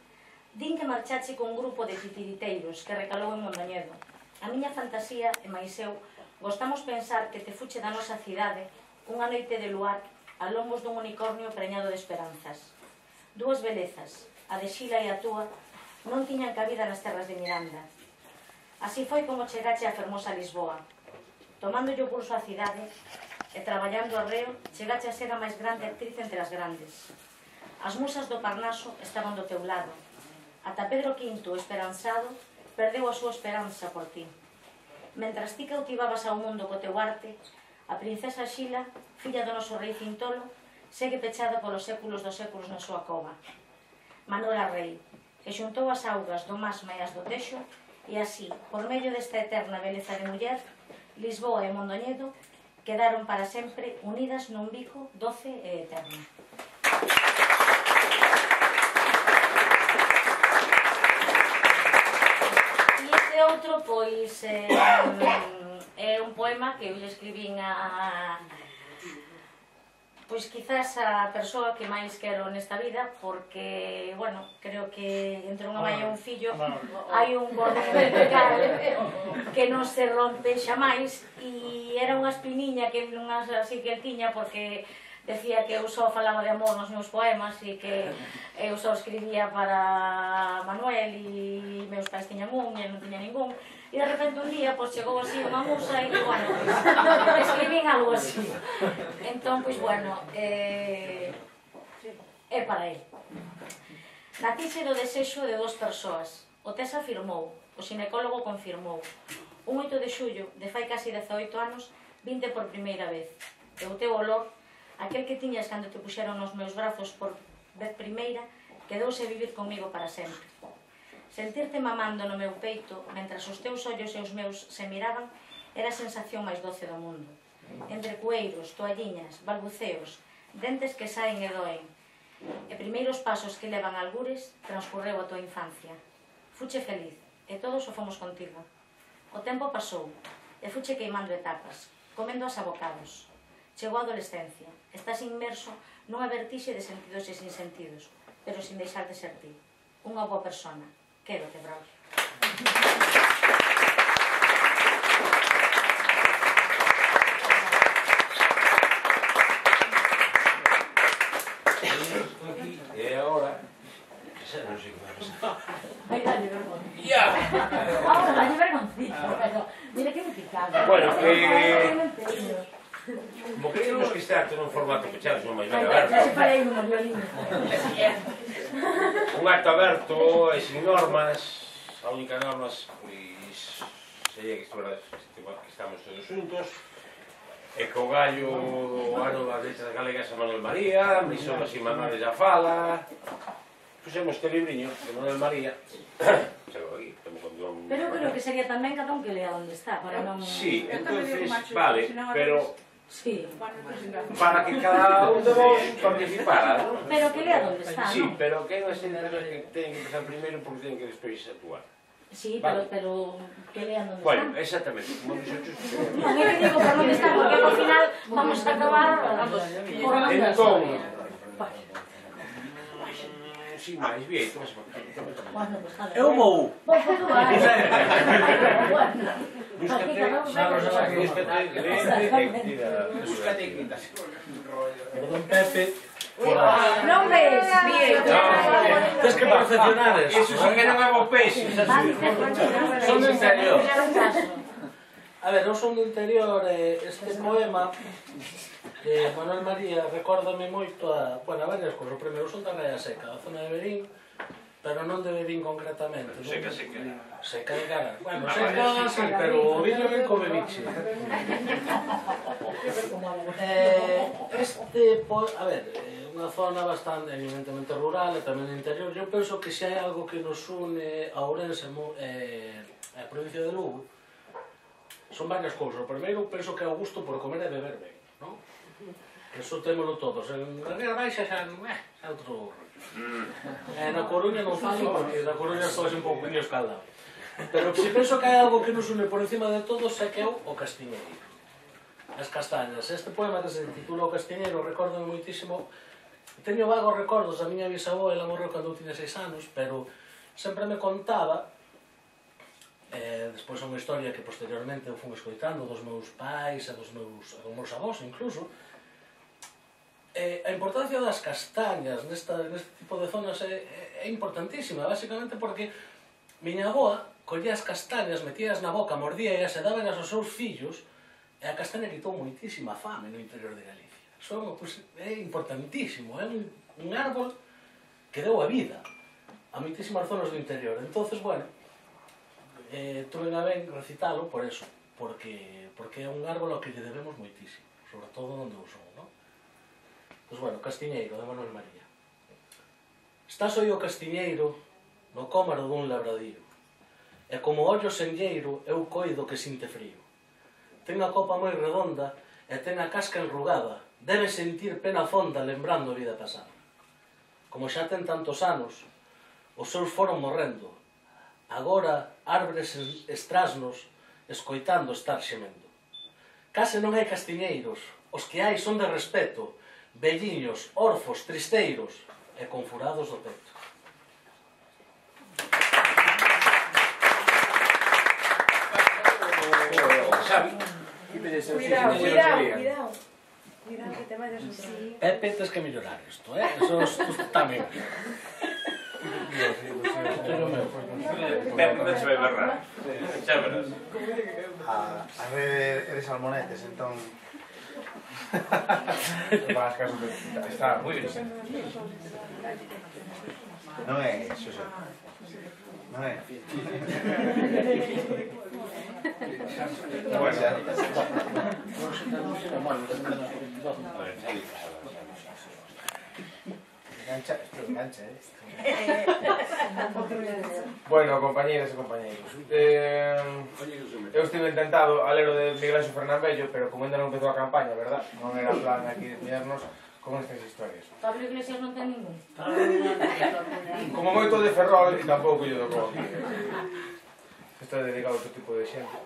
din que marchache con un grupo de titiriteiros que recalou en Mondoñedo. A miña fantasía e máis eu gostamos pensar que te fuche da nosa cidade unha noite de luar a lombos dun unicornio preñado de esperanzas. Dúas belezas, a de Xila e a túa, non tiñan cabida nas terras de Miranda. Así foi como chegache a fermosa Lisboa. Tomándolle o pulso á cidade e traballando arreo, chegache a ser a máis grande actriz entre as grandes. As musas do Parnaso estaban do teu lado. Ata Pedro V, esperanzado, perdeu a súa esperanza por ti. Mentras ti cautivabas ao mundo co teu arte, a princesa Xila, filla do noso rei Cintolo, segue pechada polos séculos dos séculos na súa cova. Manuela Rey, que xuntou as augas do Masma e as do Texo, e así, por medio desta eterna beleza de muller, Lisboa e Mondoñedo quedaron para sempre unidas nun bico doce e eterno. Outro, pois, é un poema que eu lle escribín a pois quizás a persoa que máis quero nesta vida, porque, bueno, creo que entre unha mãe e un fillo hai un cordón vertical que non se rompe xamais, e era unha espiniña que non así que el tiña, porque decía que eu só falaba de amor nos meus poemas e que eu só escribía para Manuel e meus pais tiñan un e non tiña ningún, e de repente un día pois chegou así unha musa e bueno, escribín algo así. Entón, pois bueno, é para él. Nacixe do desexo de dos persoas. O Tes afirmou, o xinecólogo confirmou. Un 8 de xullo de fai casi 18 anos vinte por primeira vez. E o teu olor, aquel que tiñas cando te puxeron nos meus brazos por vez primeira, quedouse vivir comigo para sempre. Sentirte mamando no meu peito, mentras os teus ollos e os meus se miraban, era a sensación máis doce do mundo. Entre cueiros, toalliñas, balbuceos, dentes que saen e doen, e primeiros pasos que levan algures, transcurreu a tua infancia. Fuche feliz, e todos o fomos contigo. O tempo pasou, e fuche queimando etapas, comendo as abocados. Chegou a adolescencia, estás inmerso nunha vertixe de sentidos e sin sentidos, pero sin deixar de ser ti. Unha boa persona. Quédote, Braulio. aquí, e agora... Non sei que vai pasar. Ai, dalle vergonha. Ya! Ahora, dalle vergoncita, pero... Mira que me picado. Bueno, como queríamos que este acto nun formato pechado, non máis ben aberto. Ya se falei unha violina. Un acto aberto e sin normas. A única normas, pois, sería que estamos todos juntos. E co gallo o ano das letras galegas a Manuel María, Misomas e Manuales a fala. Puxemos este libriño de Manuel María. Chego aquí, temos con Dios. Pero creo que sería tamén cada un que lea onde está, para non... Sí, entonces, vale, pero... Sí. Para que cada un de vos participara, ¿no? Pero que lea onde está, Sí, ¿no? pero que non se que ten que empezar primeiro porque ten que despois actuar. Sí, Vale. pero que lean onde Bueno, está. exactamente, como dixo Chus. Non é que digo por onde está, porque ao final vamos a acabar por onde Entón, Vale. sin máis, bien, tomas por aquí. Bueno, pues nada. Eu vou. Vou por tú, Búscate, Búscate y quitas. Perdón, Pepe. Non ves, bien. Tens que perfeccionar eso. Eso sí que non é bo peixe. Son do interior. A ver, eu son do interior e este poema de Manuel María recórdame moito a, bueno, a varias cousas. O primeiro son da Rea Seca, da zona de Berín, pero non de Berín concretamente. Seca, seca. Seca de cara. Bueno, seca, sí, pero o viño ben come biche. A ver, unha zona bastante, evidentemente, rural e tamén interior. Eu penso que se hai algo que nos une a Ourense e a provincia de Lugo, son varias cousas. O primeiro, penso que é o gusto por comer e beber ben, non? Que iso témolo todos. En Ría Baixa xa é outro rollo. Na Coruña non falo porque na Coruña estou un pouco escaldado. Pero se penso que hai algo que nos une por encima de todos é que é o castiñeiro. As castañas. Este poema que se titula O Castiñeiro recordo moitísimo. Teño vagos recordos da miña bisavó, ela morreu cando eu tiña 6 anos, pero sempre me contaba. Despois é unha historia que posteriormente eu fui escoitando dos meus pais e dos meus avós incluso. A importancia das castañas neste tipo de zonas é importantísima, basicamente porque miña avoa collía as castañas, metías na boca, mordías e daban aos seus fillos, e a castaña quitou moitísima fame no interior de Galicia. Iso é importantísimo, é un árbol que deu a vida a moitísimas zonas do interior. Entonces, bueno, tuve a ben recitalo por eso, porque é un árbol ao que lle debemos moitísimo, sobre todo onde eu son, non? Pois bueno, Castiñeiro, de Manuel María. Estás oi o castiñeiro no cómaro dun labradío, e como ollo senlleiro eu coido que sinte frío. Ten a copa moi redonda e ten a casca enrugada, debe sentir pena fonda lembrando a vida pasada. Como xa ten tantos anos, os seus foron morrendo, agora árbores estrasnos escoitando estar xemendo. Case non hai castiñeiros, os que hai son de respeto, velliños, orfos, tristeiros e con furados do peto. Xavi. Cuidado. Cuidado que te vayas a salir. Pepe, tens que mellorar isto, Eso tamén. Pepe, non se vai berrar. Xa verás. A red é de salmonetes, entón... Para as casas está moi bien. Non é, Xosé. Non é. Engancha, Bueno, compañeras e compañeiros, eu estive intentado a ler o de Miguel Ángel Fernán Bello, pero como ainda non empezou a campaña, verdad? Non era plan aquí de mirarnos con estas historias. Pablo Iglesias non ten ningún. Como moito de Ferrol, e tampouco lle tocou aquí. Está dedicado a outro tipo de xente.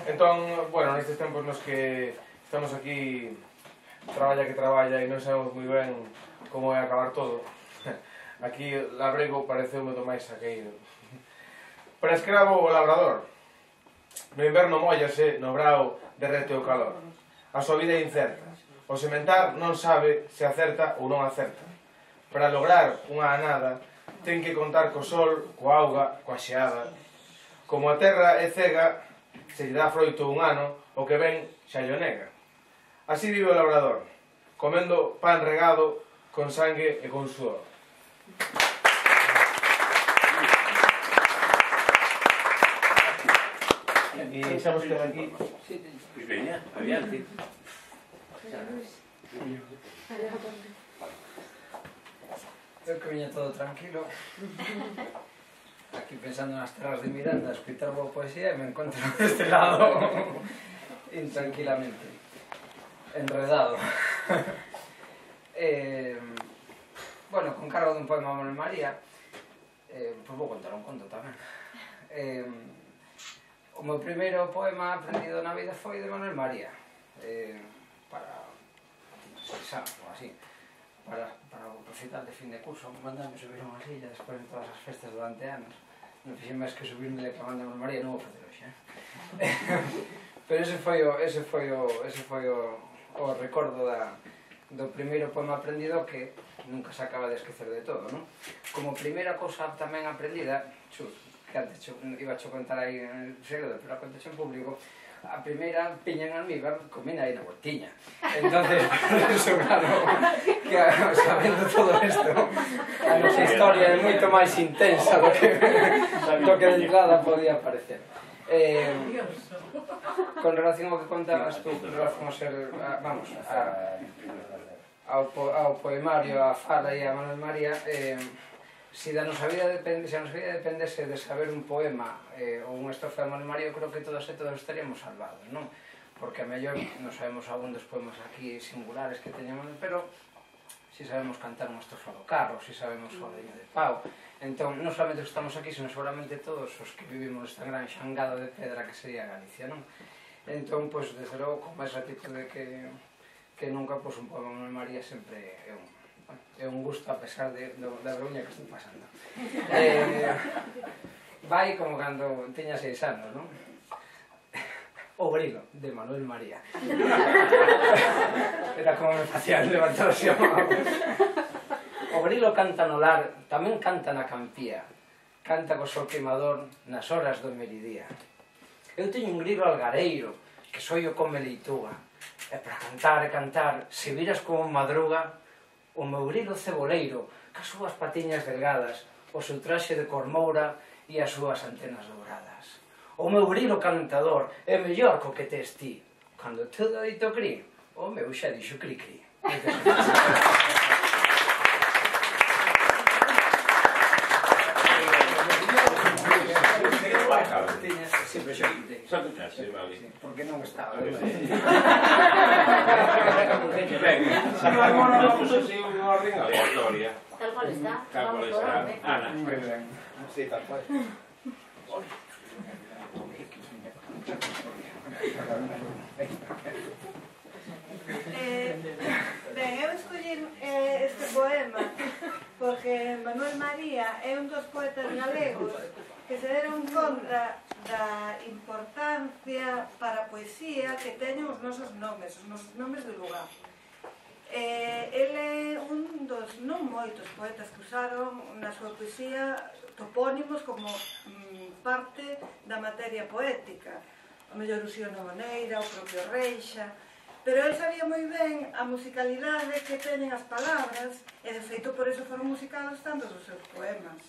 Entón, bueno, nestes tempos nos que estamos aquí traballa que traballa e non sabemos moi ben como é acabar todo, aquí labrego pareceume do máis saqueiro. Para escravo o labrador, no inverno mollase, no brao derrete o calor. A súa vida é incerta, O sementar non sabe se acerta ou non acerta. Para lograr unha anada, ten que contar co sol, coa auga, coa xeada. Como a terra é cega, se lle dá froito un ano, o que ven xa lle nega. Así vive o labrador, comendo pan regado con sangue e con suor. E deixamos que aquí... Pois veña, adiante. Eu que viña todo tranquilo, aquí pensando nas terras de Miranda, a escritar boa poesía e me encontro deste lado intranquilamente, enredado. Bueno, con cargo dun poema a Manuel María, pois vou contar un conto tamén. O meu primeiro poema aprendido na vida foi de Manuel María, para 6 anos ou así, para o recital de fin de curso. Mandame subir unha silla despois de todas as festas durante anos. Non fixen máis que subirme declamando a Manuel María, non vou facer hoxe. Pero ese foi o recordo do primeiro poema aprendido, que nunca se acaba de esquecer de todo, non? Como primeira cousa tamén aprendida, que antes iba a contar aí en segredo, pero a contar en público, a primeira piña en almíbar comín aí na voltiña. Entonces, eso, claro, que sabendo todo isto, a nosa historia é moito máis intensa do que de entrada podía parecer. Con relación ao que contabas tú, con relación a ser, vamos, ao poemario, a fala e a Manuel María, se a nosa vida dependese de saber un poema ou unha estrofa de Manuel María, eu creo que todos e todos estaríamos salvados, non? Porque a mellor non sabemos algún dos poemas aquí singulares que teñamos, pero si sabemos cantar unha estrofa do carro, si sabemos o Deño de Pau. Entón, non solamente os que estamos aquí, sino seguramente todos os que vivimos esta gran xangada de pedra que sería Galicia, non? Entón, pois, desde logo, con máis actitude que nunca, pois, un poema de Manuel María sempre é un gusto, a pesar da vergoña que estou pasando. Vai como cando teña 6 anos, non? O grilo, de Manuel María. Era como me facían levantar así a mão. O grilo canta no lar, tamén canta na campía. Canta co sol queimador nas horas do meridía. Eu teño un grilo algareiro, que soio come leituga. E para cantar e cantar, se viras como madruga, o meu grilo ceboleiro, cas súas patiñas delgadas, o seu traxe de cormoura e as súas antenas douradas. O meu grilo cantador é mellor co que tes ti. Cando todo dito cri, o meu xa dixo cri-cri. Sempre xa quitei. Xa quitaste, vale. Porque non estaba. Ben, vamos así unha orden aleatoria. Tal cual está. Tal cual está. Ana. Muy ben. Sí, tal cual. Ben, eu escollín este poema porque Manuel María é un dos poetas galegos que se deron conta da importancia para a poesía que teñen os nosos nomes de lugar. Ele é un dos non moitos poetas que usaron na súa poesía topónimos como parte da materia poética. O mellor o Xiona Moneira, o propio Reixa, pero ele sabía moi ben a musicalidade que teñen as palabras e de feito por eso foron musicados tantos os seus poemas.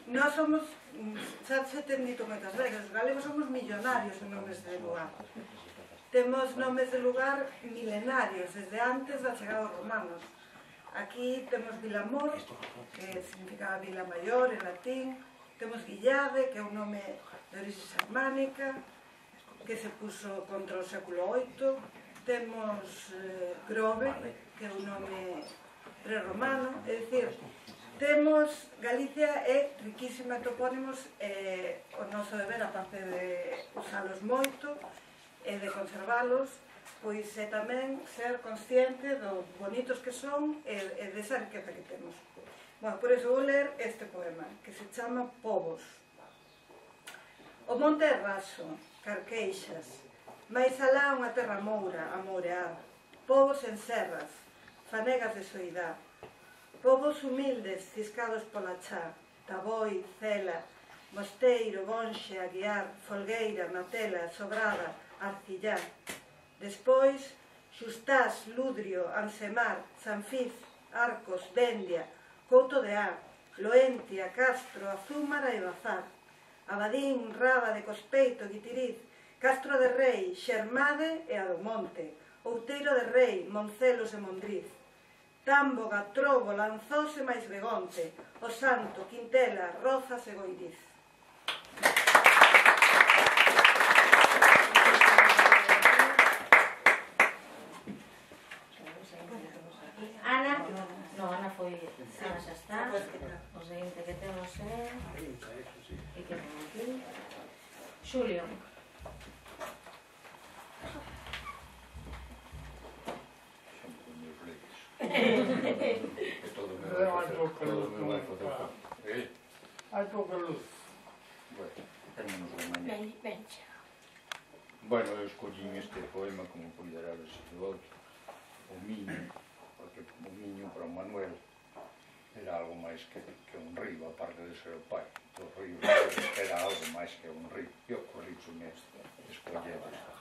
Nós somos, xa se ten dito moitas veces, os galegos somos millonarios en nomes de lugar. Temos nomes de lugar milenarios, desde antes da chegada dos romanos. Aquí temos Vilamor, que significaba Vila Maior en latín. Temos Guillade, que é un nome de orixe xermánica, que se puso contra o século VIII. Temos Grove, que é un nome prerromano. É dicir, temos, Galicia é riquísima de topónimos, o noso deber, a parte de usalos moito e de conservalos, pois é tamén ser consciente do bonitos que son e desa riqueza que temos. Bueno, por iso vou ler este poema, que se chama Povos. O monte é raso, carqueixas, máis alá unha terra moura, amoureada, povos en serras, fanegas de soidá, povos humildes ciscados pola chá, Taboi, Cela, Mosteiro, Bonxe, Aguiar, Folgueira, Matela, Sobrada, Arcillá. Despois, Xustás, Ludrio, Ansemar, Sanfiz, Arcos, Vendia, Couto de Á, Loentia, Castro, Azúmara e Bazar, Abadín, Rábade, Cospeito, Guitiriz, Castro de Rei, Xermade e Adomonte, Outeiro de Rei, Moncelos e Mondriz, Támboga, Trobo, Lanzós e máis Begonte, O Santo, Quintela, Rozas e Goiriz. Ana, no, Ana foi, Ana xa está. O seguinte que temos é... E que temos aquí? Xulio. Hai pouca luz. Bueno, eu escollín este poema como poderá verse de outro, o Miño, porque o Miño para o Manuel era algo máis que un río, aparte de ser o pai do río, era algo máis que un río, e ocorríxome escoller esta.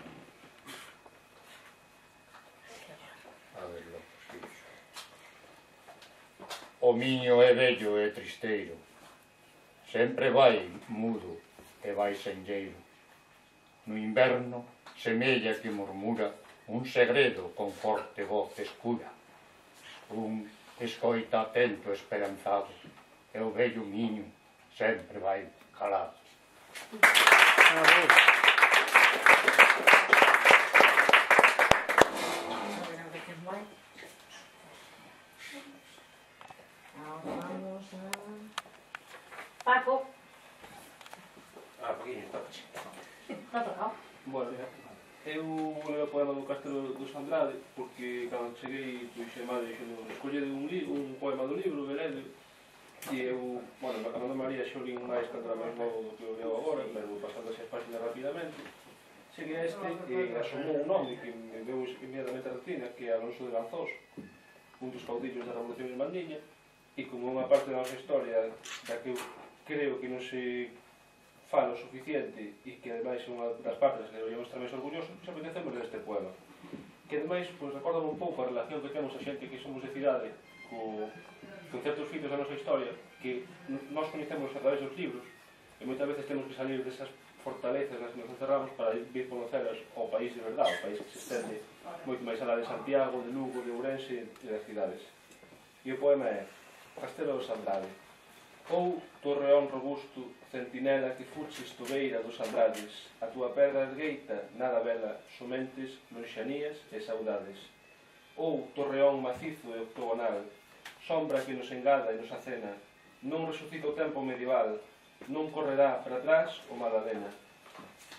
A ver, lo posible. O Miño é bello e tristeiro, sempre vai mudo e vai senlleiro. No inverno semella que murmura un segredo con forte voz escura. Un escoita atento esperanzado e o vello Miño sempre vai calado. Vamos a... Paco. Paquinho, tocache. Está tocado. Bueno, eu levei o poema do Castro dos Andrade porque cando cheguei, pois a madre dixendo escollede un poema do libro, veredo, e eu, bueno, na Camada María xo li máis cando era máis novo do que o leo agora, pero pasando as páginas rapidamente, cheguei a este e asomou un nome que me deu inmediatamente a retina, que é Alonso de Lanzós, un dos caudillos da Revolución Irmandiña, e como unha parte da nosa historia da que eu creo que non se fala o suficiente e que ademais é unha das partes que deberíamos estar máis orgullosos, pois apetecemos deste poema, que ademais pois, recorda un pouco a relación que temos a xente que somos de cidade con certos fitos da nosa historia que nós coñecemos a través dos libros e moitas veces temos que salir desas fortalezas nas que nos encerramos para vir conoceras ao país de verdade, o país que se estende moito máis alá de Santiago, de Lugo, de Ourense e das cidades. E o poema é Castelo dos Andrade. Ou, torreón robusto, centinela que fuches tobeira dos Andrades, a túa pedra ergueita, nada vela, somentes, lonxanías e saudades. Ou, torreón macizo e octogonal, sombra que nos engada e nos acena, non resucita o tempo medieval, non correrá para atrás o Madalena.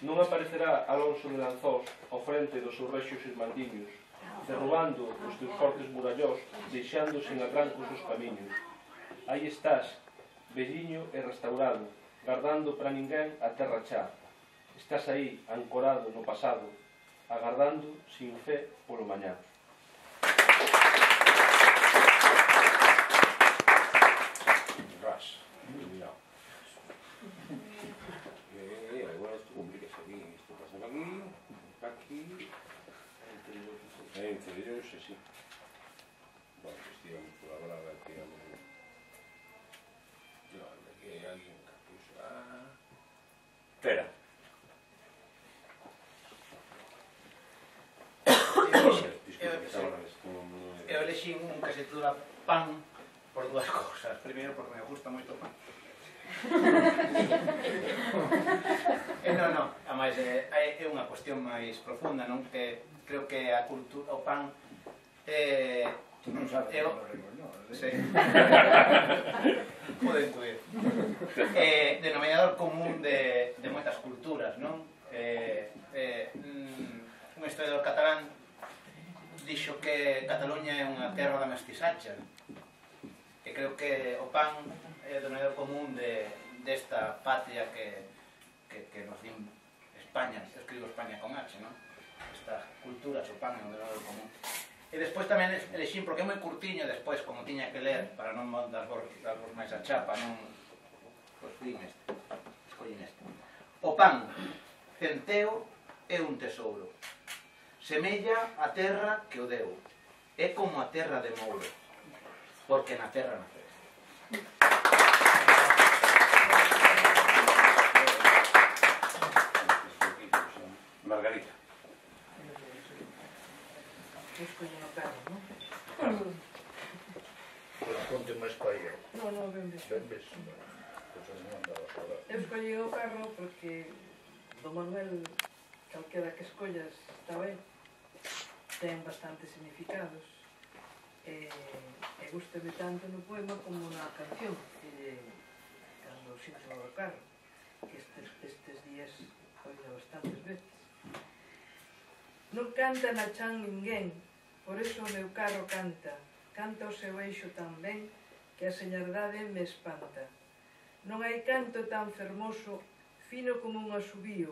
Non aparecerá Alonso de Lanzós ao frente dos seus rexios irmandiños, derrubando os teus fortes murallós, deixando sen atrancos os camiños. Aí estás, velliño e restaurado, gardando para ninguén a terra chá. Estás aí, ancorado no pasado, agardando sin fe polo mañá. Ras, mirao. Agora isto complica aquí, isto pasa aquí, entre ellos, así. Bueno, pues tiramos por la brava, tiramos... Aquí hay alguien que puso... Espera. Eu elexí un que se titula Pan por dúas cousas. Primeiro, porque me gusta moito o pan. Non, ademais é unha cuestión máis profunda, non? Que creo que a cultura, o pan Tú non sabes que non rimos, non? Sí. Pode intuir. Denominador común de moitas culturas, non? Un historiador catalán dixo que Cataluña é unha terra da mestizacha, e creo que o pan é o denominador común desta patria que nos din España, escribo España con H, non? esta cultura, o pan é un denominador común. E despois tamén elexín, porque é moi curtiño, despois, como tiña que ler, para non darvos máis a chapa, non... Pois din este, escollín este. O pan, centeo, é un tesouro. Semella a terra que o deu. É como a terra de Mouro, porque na terra naceu. Margarita. Escollín o carro, non? Conte máis para aí. Non, ben ves. Ben ves. Eu escollín o carro porque do Manuel, calquera que escollas, está ben, ten bastantes significados. E gústame tanto no poema como na canción, que cando sinto o carro, que estes días oído bastantes veces. Non canta na chan ninguén, por eso o meu carro canta, canta o seu eixo tan ben que a señardade me espanta. Non hai canto tan fermoso, fino como un asubío,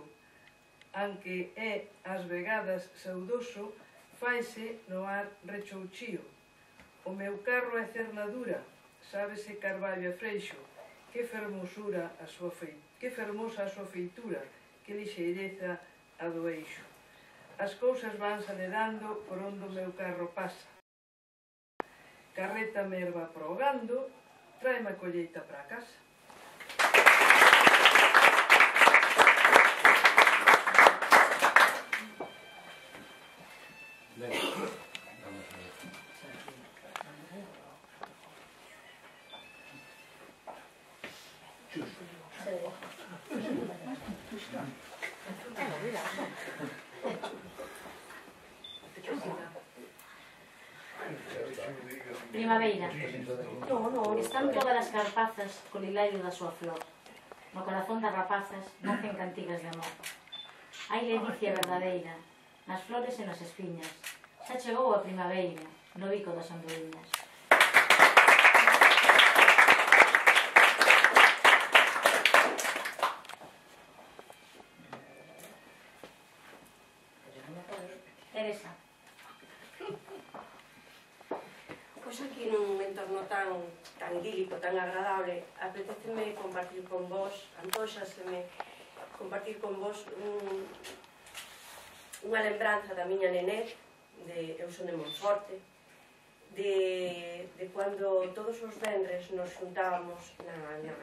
aunque é ás vegadas saudoso, faise no ar rechouchío. O meu carro é cernadura, sábese carballo e freixo, que fermosa a súa feitura, que lixeireza a do eixo. As cousas van saledando por onde o meu carro pasa. Carreta me erva progando, tráeme a colleita para casa. Ben, vamos a ver. Primavera. Están todas as carpazas co lilario da súa flor. No corazón das rapazas nacen cantigas de amor. Hai ledicia verdadeira nas flores e nas espiñas. Xa chegou a primavera no bico das andorinhas. Teresa. Pois aquí nun entorno tan idílico, tan agradable, apeteceme compartir con vos, antóxaseme compartir con vos unha lembranza da miña nené, eu son de Monforte, de cando todos os venres nos xuntábamos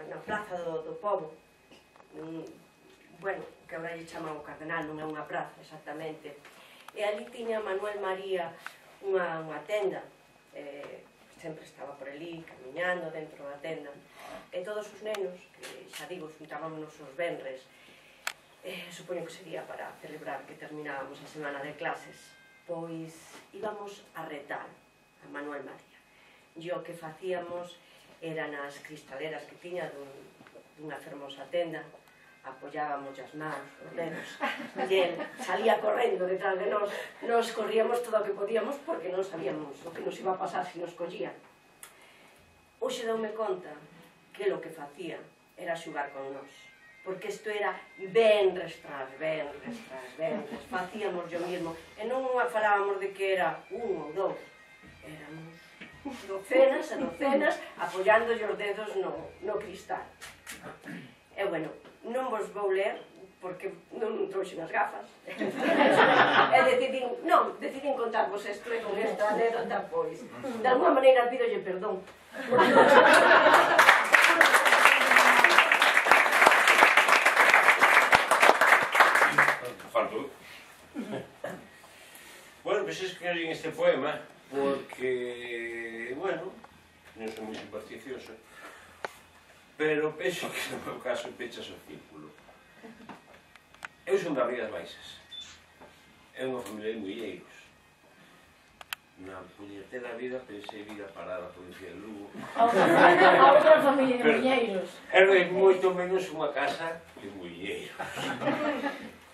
na plaza do pobo, bueno, que agora lle chaman o Cardenal, non é unha praza exactamente, e ali tiña Manuel María unha tenda, sempre estaba por ali, camiñando dentro da tenda, e todos os nenos, que xa digo, xuntábamos os venres, supoño que sería para celebrar que terminábamos a semana de clases, pois íbamos a retar a Manuel María. E o que facíamos era nas cristaleras que tiña dunha fermosa tenda, apoyábamos as mans, os dedos, e el salía correndo detrás de nos corríamos todo o que podíamos porque non sabíamos o que nos iba a pasar se nos collían. Hoxe doume conta que o que facía era xugar con nós, porque isto era venres tras venres tras venres, facíamos yo mismo, e non falábamos de que era un ou dous, éramos docenas e docenas apoyándolle os dedos no cristal. E bueno, non vos vou ler porque non trouxen as gafas e decidín contarvos isto e con esta anécdota pois de alguma maneira pídolle perdón Faltou. Bueno, pois escribín este poema porque, bueno, non son moi supersticioso, pero penso que no meu caso pechas o círculo. Eu son das Rías Baixas. É unha familia de mulleiros. Na puñetera vida pensei vir a parar a provincia de Lugo. A outra familia de mulleiros. Era moito menos unha casa de mulleiros.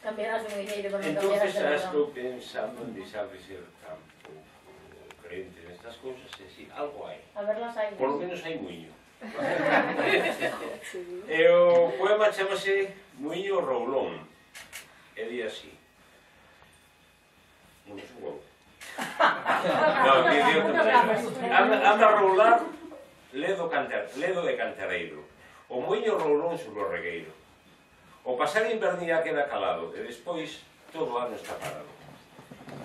Cambiarás de mulleiro por non Entonces cambiarás de xa razón. estou pensando en deixar de ser tan pouco crente nestas cousas e si, algo hai. A ver las hai. Por lo menos hai muiño. E o poema chamase Muiño Roulón. E di así: Non subo. Non, di outro tema. Anda a roular ledo de cantareiro. O moinho roulón sobre o regueiro. O pasar invernía queda calado e despois todo o ano está parado.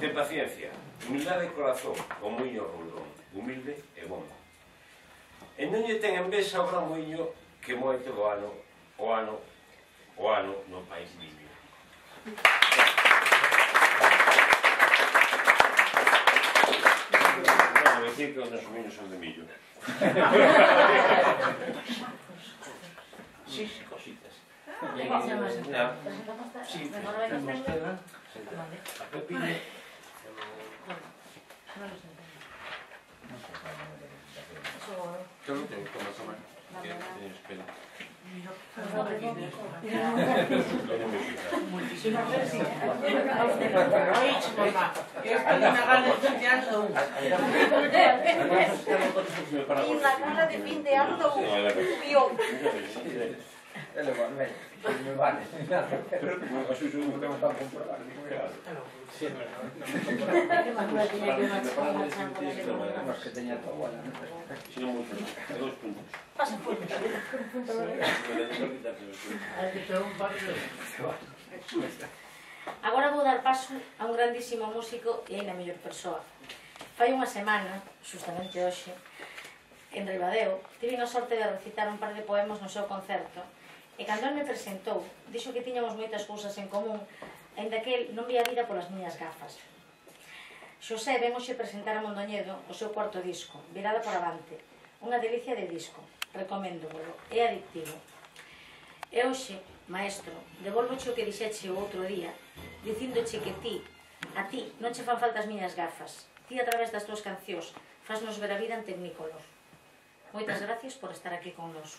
Ten paciencia, humildade e corazón, o moinho roulón, humilde e bon. E non lle ten envexa o gran moinho que moe todo o ano no país limpio. Non decir que os nosos moinhos son de millo. Sí, cositas. Sí, a pepino. Yo no tengo que tomar. Tienes pelo. Y una cara de fin de año subió. Me vale. Pero a su no tengo tan comprobado. Sí, es que tenía todo bueno. Si no mucho, 2 puntos. Pasa por Agora vou dar paso a un grandísimo músico e ainda mellor persoa. Fai unha semana, justamente hoxe, en Ribadeo, tive a sorte de recitar un par de poemas no seu concerto e cando ele me presentou, dixo que tiñamos moitas cousas en común, aínda que el non vía a vida polas miñas gafas. Xosé ven hoxe presentar a Mondoñedo o seu cuarto disco, Virada por Avante, unha delicia de disco, recoméndovolo, é adictivo. E hoxe, maestro, devolvoche o que dixeche o outro día, dicíndoche que a ti non che fan falta as miñas gafas, ti a través das túas cancións fasnos ver a vida en Tecnicolor. Moitas gracias por estar aquí con nos.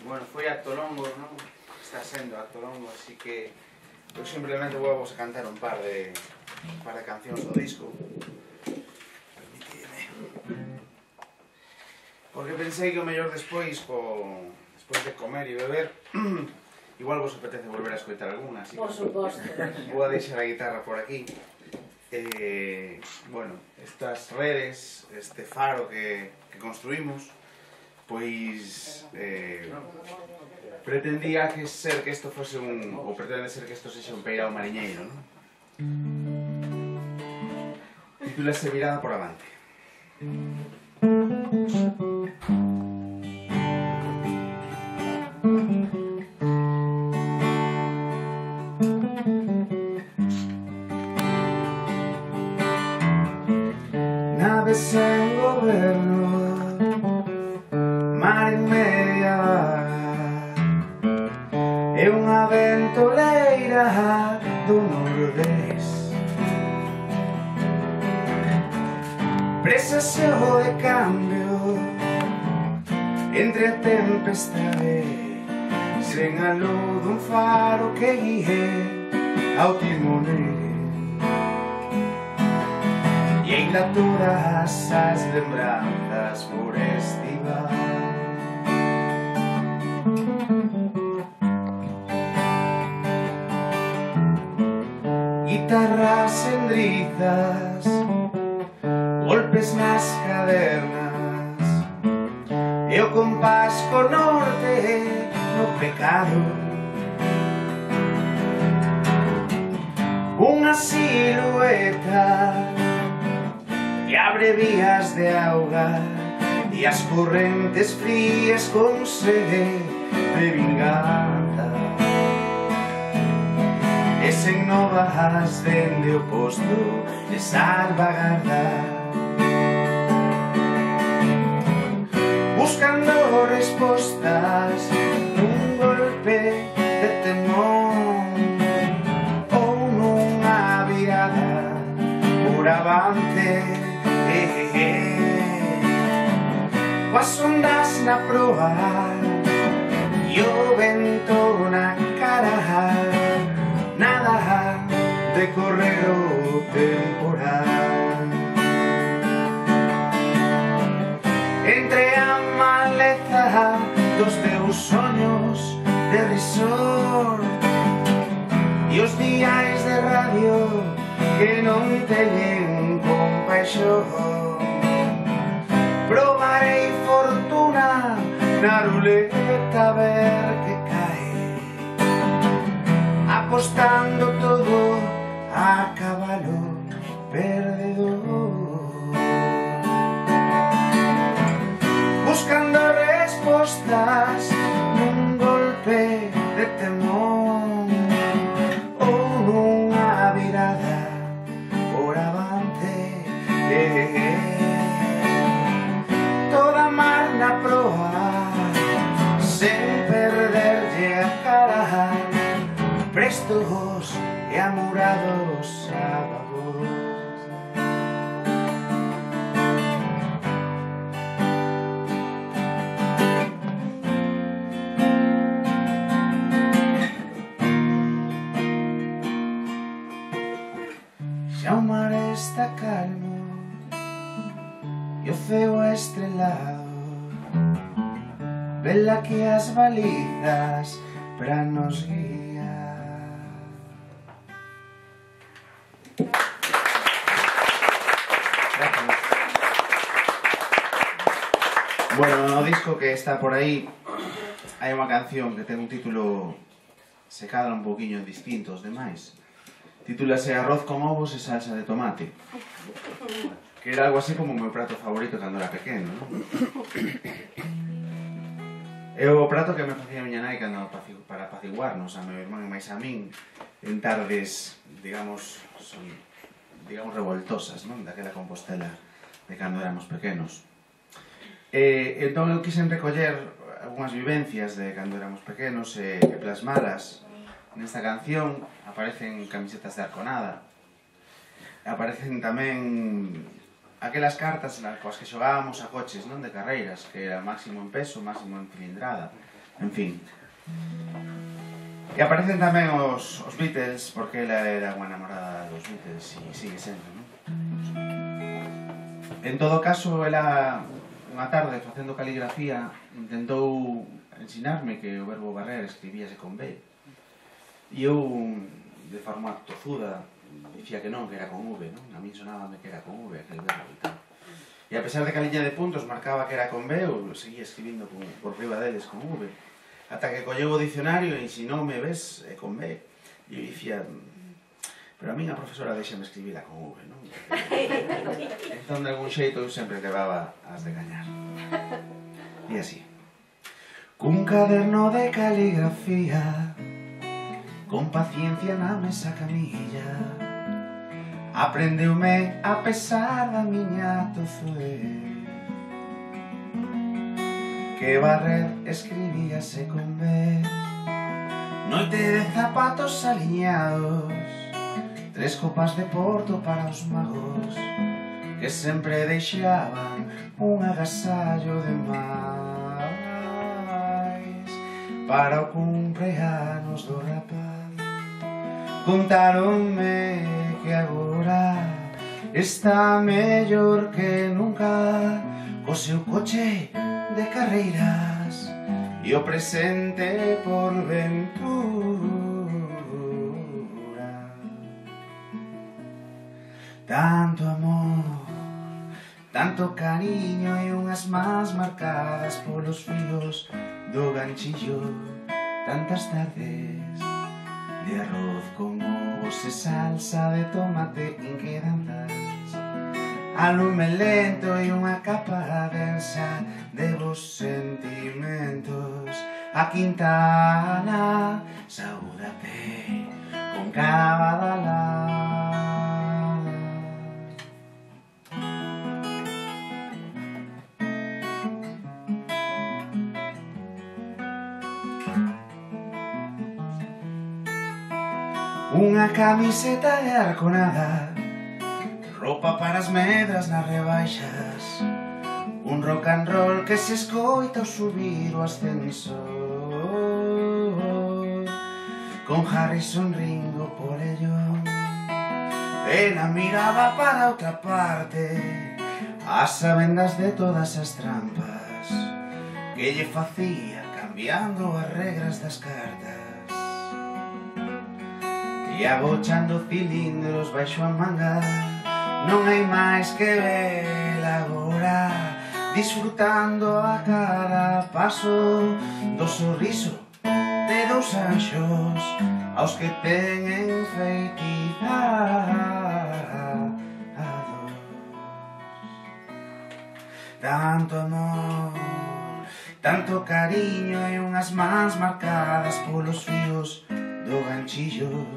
Bueno, foi acto longo, non? Está sendo acto longo, así que eu simplemente vou a cantar un par de cancións do disco. Permitidme. Porque pensei que o mellor despois de comer e beber, igual vos apetece volver a escoitar alguna, así por suposto. Vou a deixar a guitarra por aquí. Bueno, estas redes, este faro que construímos, pois pretendía que isto fose ou pretende ser que isto sexa un peirao mariñeiro, non? Titúlase Virada por Avante. Naves sen goberno, mar en media e unha ventoleira do nordés. Presaseo de cambio entre a tempestade, sen a luz dun faro que guíe ao timonel. E ainda todas as lembranzas por estivar. Guitarras endrizas, golpes nas cadernas e o compás co norte no pecado. Unha silueta que abre vías de auga e as correntes frías con sede de vinganza. E sen novas dende o posto de salvaguarda, buscando respostas nun golpe de temón ou nunha virada por avante. Coas ondas na proa e o vento na cara, nada de correr o temporal. dos teus soños de risor e os diais de radio que non teñen compaixón. Probarei fortuna na ruleta a ver que cae, apostando todo a cabalo perdedor, buscando respostas nun golpe de temor ou nunha virada por avante. Toda mar na proa sen perderlle a cara, prestos e amorados a babor. Xa o mar está calmo e o ceo estrelado, vela que as balizas pra nos guiar. Bueno, no disco que está por aí hai unha canción que ten un título, se cadra un poquinho distinto aos demais. Titúlase Arroz con ovos e salsa de tomate, que era algo así como o meu prato favorito cando era pequeno, non? É o prato que me facía a miña nai cando para apaciguarnos a meu irmán e máis a min en tardes, digamos, revoltosas, non? Daquela Compostela de cando éramos pequenos. Entón eu quixen recoller algunhas vivencias de cando éramos pequenos e plasmalas nesta canción. Aparecen camisetas de Arconada, aparecen tamén aquelas cartas coas que xogábamos a coches, non, de carreiras, que era máximo en peso, máximo en cilindrada, en fin. E aparecen tamén os Beatles, porque ela era unha enamorada dos Beatles e sigue sendo, non? En todo caso, ela unha tarde facendo caligrafía intentou ensinarme que o verbo barrer escribíase con B, e eu, de forma tozuda, dicía que non, que era con V, non? A min sonábame que era con V aquel verbo e tal. E a pesar de que a liña de puntos marcaba que era con B, eu seguía escribindo por riba deles con V. Ata que colleu o dicionario e ensinoume, ves, con B. E eu dicía, pero a min a profesora deixame escribila con V, non? Entón, de algún xeito, eu sempre levaba as de gañar. E así. Cun caderno de caligrafía, con paciencia na mesa camilla, aprendeume a pesar da miña tozuez, que barrer escribíase con B. Noite de zapatos aliñados, 3 copas de porto para os magos, que sempre deixaban un agasallo de máis para o cumpleanos do rapaz. Contaronme que agora está mellor que nunca co seu coche de carreiras e o presente por ventura. Tanto amor, tanto cariño e unhas mans marcadas polos filos do ganchillo, tantas tardes de arroz con ovos e salsa de tomate inquedantes, a lume lento e unha capa densa de vos sentimentos. A Quintana, saúdate con Cabadalá. Unha camiseta de Arconada, roupa para as medras nas rebaixas, un rock and roll que se escoita ao subir o ascensor, con Harrison Ringo por ello. Ela miraba para outra parte, as sabendas de todas as trampas, que lle facía cambiando as regras das cartas e agochando cilindros baixo a manga. Non hai máis que vela agora, disfrutando a cada paso do sorriso de dous anxos aos que ten enfeitizados. Tanto amor, tanto cariño e unhas mans marcadas polos fíos do ganchillo.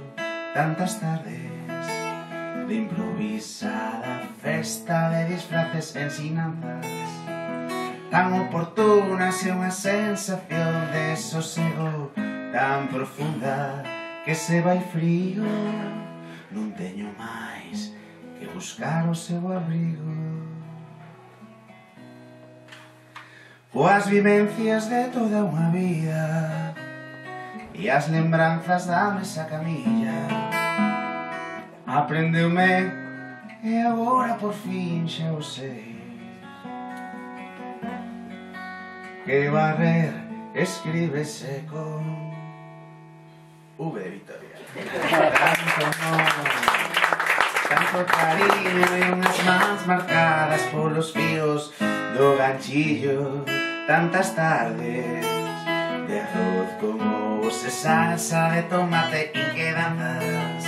Tantas tardes de improvisada festa de disfraces e ensinanzas tan oportunas e unha sensación de sosego tan profunda que se vai frío. Non teño máis que buscar o seu abrigo. Coas vivencias de toda unha vida e as lembranzas da mesa camilla, aprendeume e agora por fin xa o sei, que barrer escríbese con V de Victoria. Tanto amor, tanto cariño e unhas mans marcadas polos fíos do ganchillo. Tantas tardes de arroz con ovos e salsa de tomate inquedanzas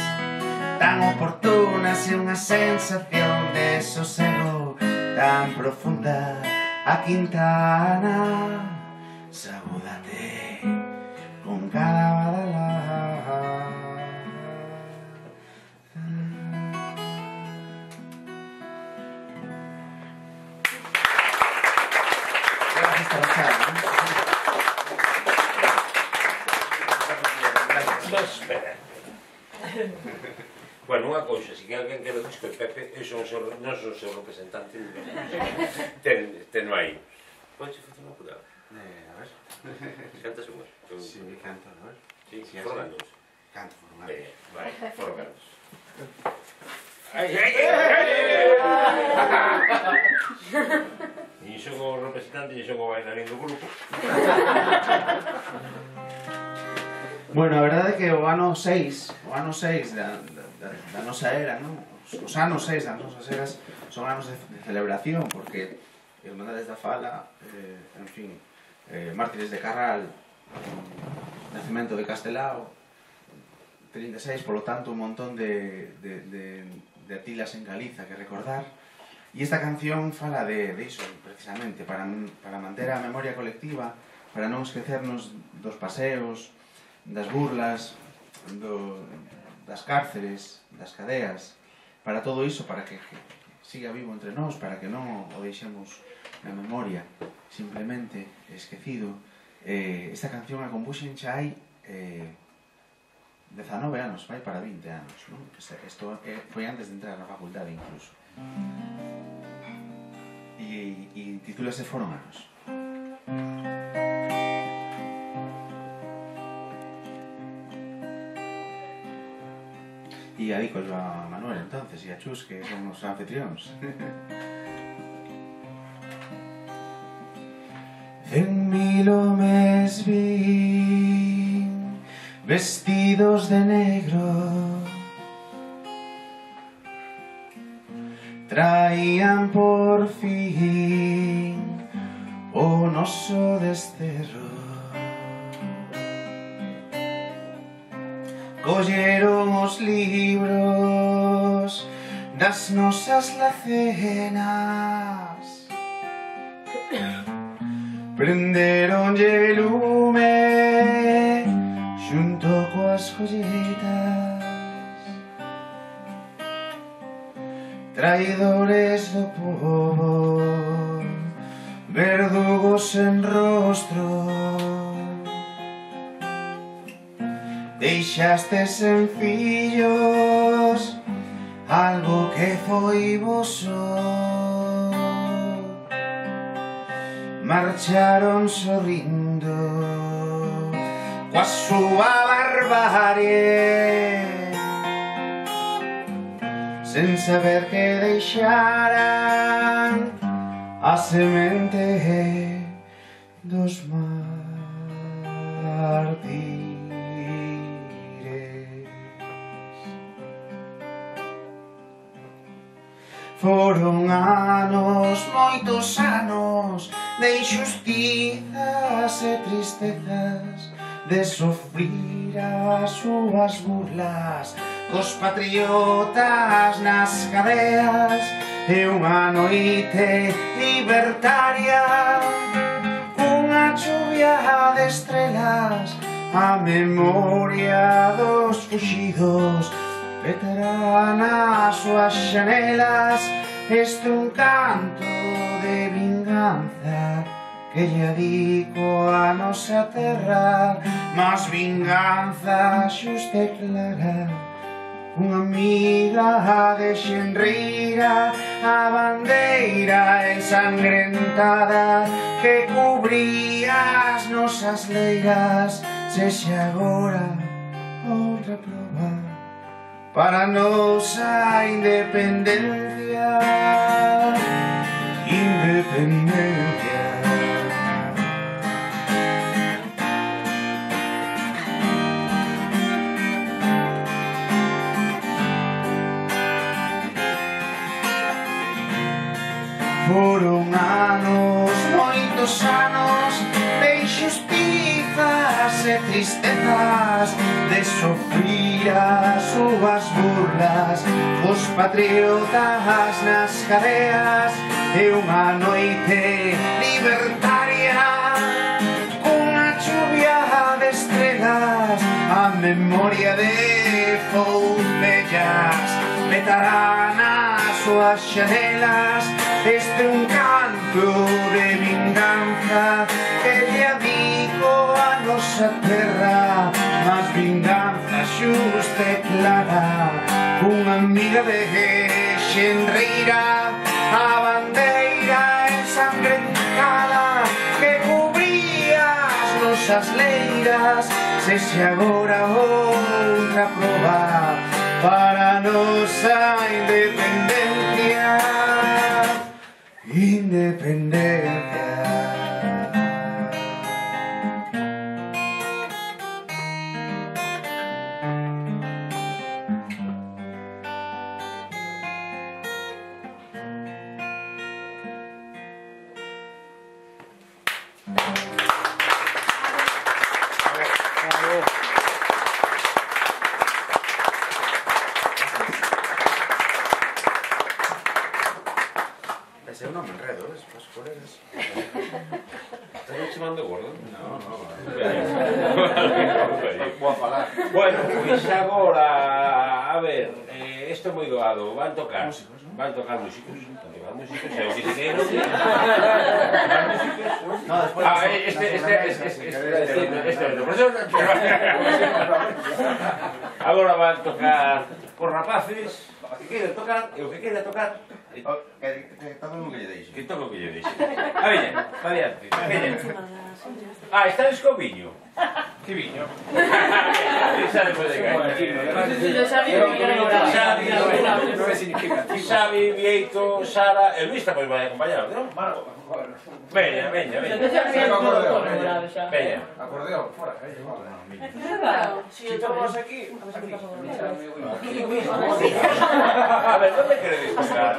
tan oportunas e unha sensación de sosego tan profunda. A Quintana sabúdate con cada badalá. Espera. Bueno, unha cousa, se que alguén quere disco de Pepe, non son o seu representante, tenno aí. Podes facer unha curada? A ver. Cantas unhas? Si, canto, a ver. Si, forganos. Canto, forganos. Vai, forganos. Ai, ai, ai! Ni son o representante, ni son o bailarín do grupo. Bueno, a verdade é que o ano 6 da nosa era, non? Os anos 6 das nosas eras son anos de celebración, porque Irmandades da Fala, en fin, Mártires de Carral, Nacemento de Castelao, 36, polo tanto, un montón de atilas en Galiza que recordar. E esta canción fala de iso, precisamente, para manter a memoria colectiva, para non esquecernos dos paseos, das burlas, das cárceres, das cadeas, para todo iso, para que siga vivo entre nós, para que non o deixemos na memoria, simplemente esquecido. Esta canción a compuxen xa hai 19 anos, vai para 20 anos, non? Isto foi antes de entrar na facultade incluso. E titúlase Foron anos. E adícollo a Manuel entonces e a Chus, que son os anfitrións. 100.000 homes vin vestidos de negro, traían por fin o noso desterro. Colleron os libros das nosas lacenas, prenderonlle lume xunto coas jolletas. Traidores do povo, verdugos en rostro, deixaste sencillos algo que foi voso. Marcharon sorrindo coa súa barbarie, sen saber que deixaran a semente dos mártires. Foron anos, moitos anos, de injustizas e tristezas, de sofrir as súas burlas, cos patriotas nas cadeas, e unha noite libertaria, unha chuvia de estrelas, a memoria dos fuxidos, petará nas súas xanelas. Este un canto de vinganza que lle adico a nosa terra, mas vinganza xusta e clara. Unha amiga de xenreira, a bandeira ensangrentada que cubría as nosas leiras, sexa agora outra prova para a nosa independencia. Independencia. Foron anos, moitos anos, de injustizas e tristezas, de sofrir as súas burlas, os patriotas nas cadeas, e unha noite libertaria, cunha chuvia de estrelas, a memoria de foucellas petará nas súas xanelas. Este un canto de vinganza que lle adico a nosa terra, mas vinganza xusta e clara. Unha amiga de xenreira, a bandeira ensangrentada que cubría as nosas leiras, sexa agora outra prova para a nosa independencia. Independencia. Eu non me enredo, ves, para os colegas. Estás chamando gordo? No. Vou a falar. Bueno, pois agora, a ver, isto é moi doado, van tocar músicos, e o que se queira. Agora van tocar os rapaces, que queiran tocar, e o que queira tocar. Que toque o que lle deixe. Que toque o que lle deixe. A veña, pa diante. Estades co viño. Que viño? Xavi, Vieito, Sara e Luis tamén vai acompañar, non? Veña. Veña. Acordeón, fora. Si estamos aquí... A ver, ¿dónde queréis tocar?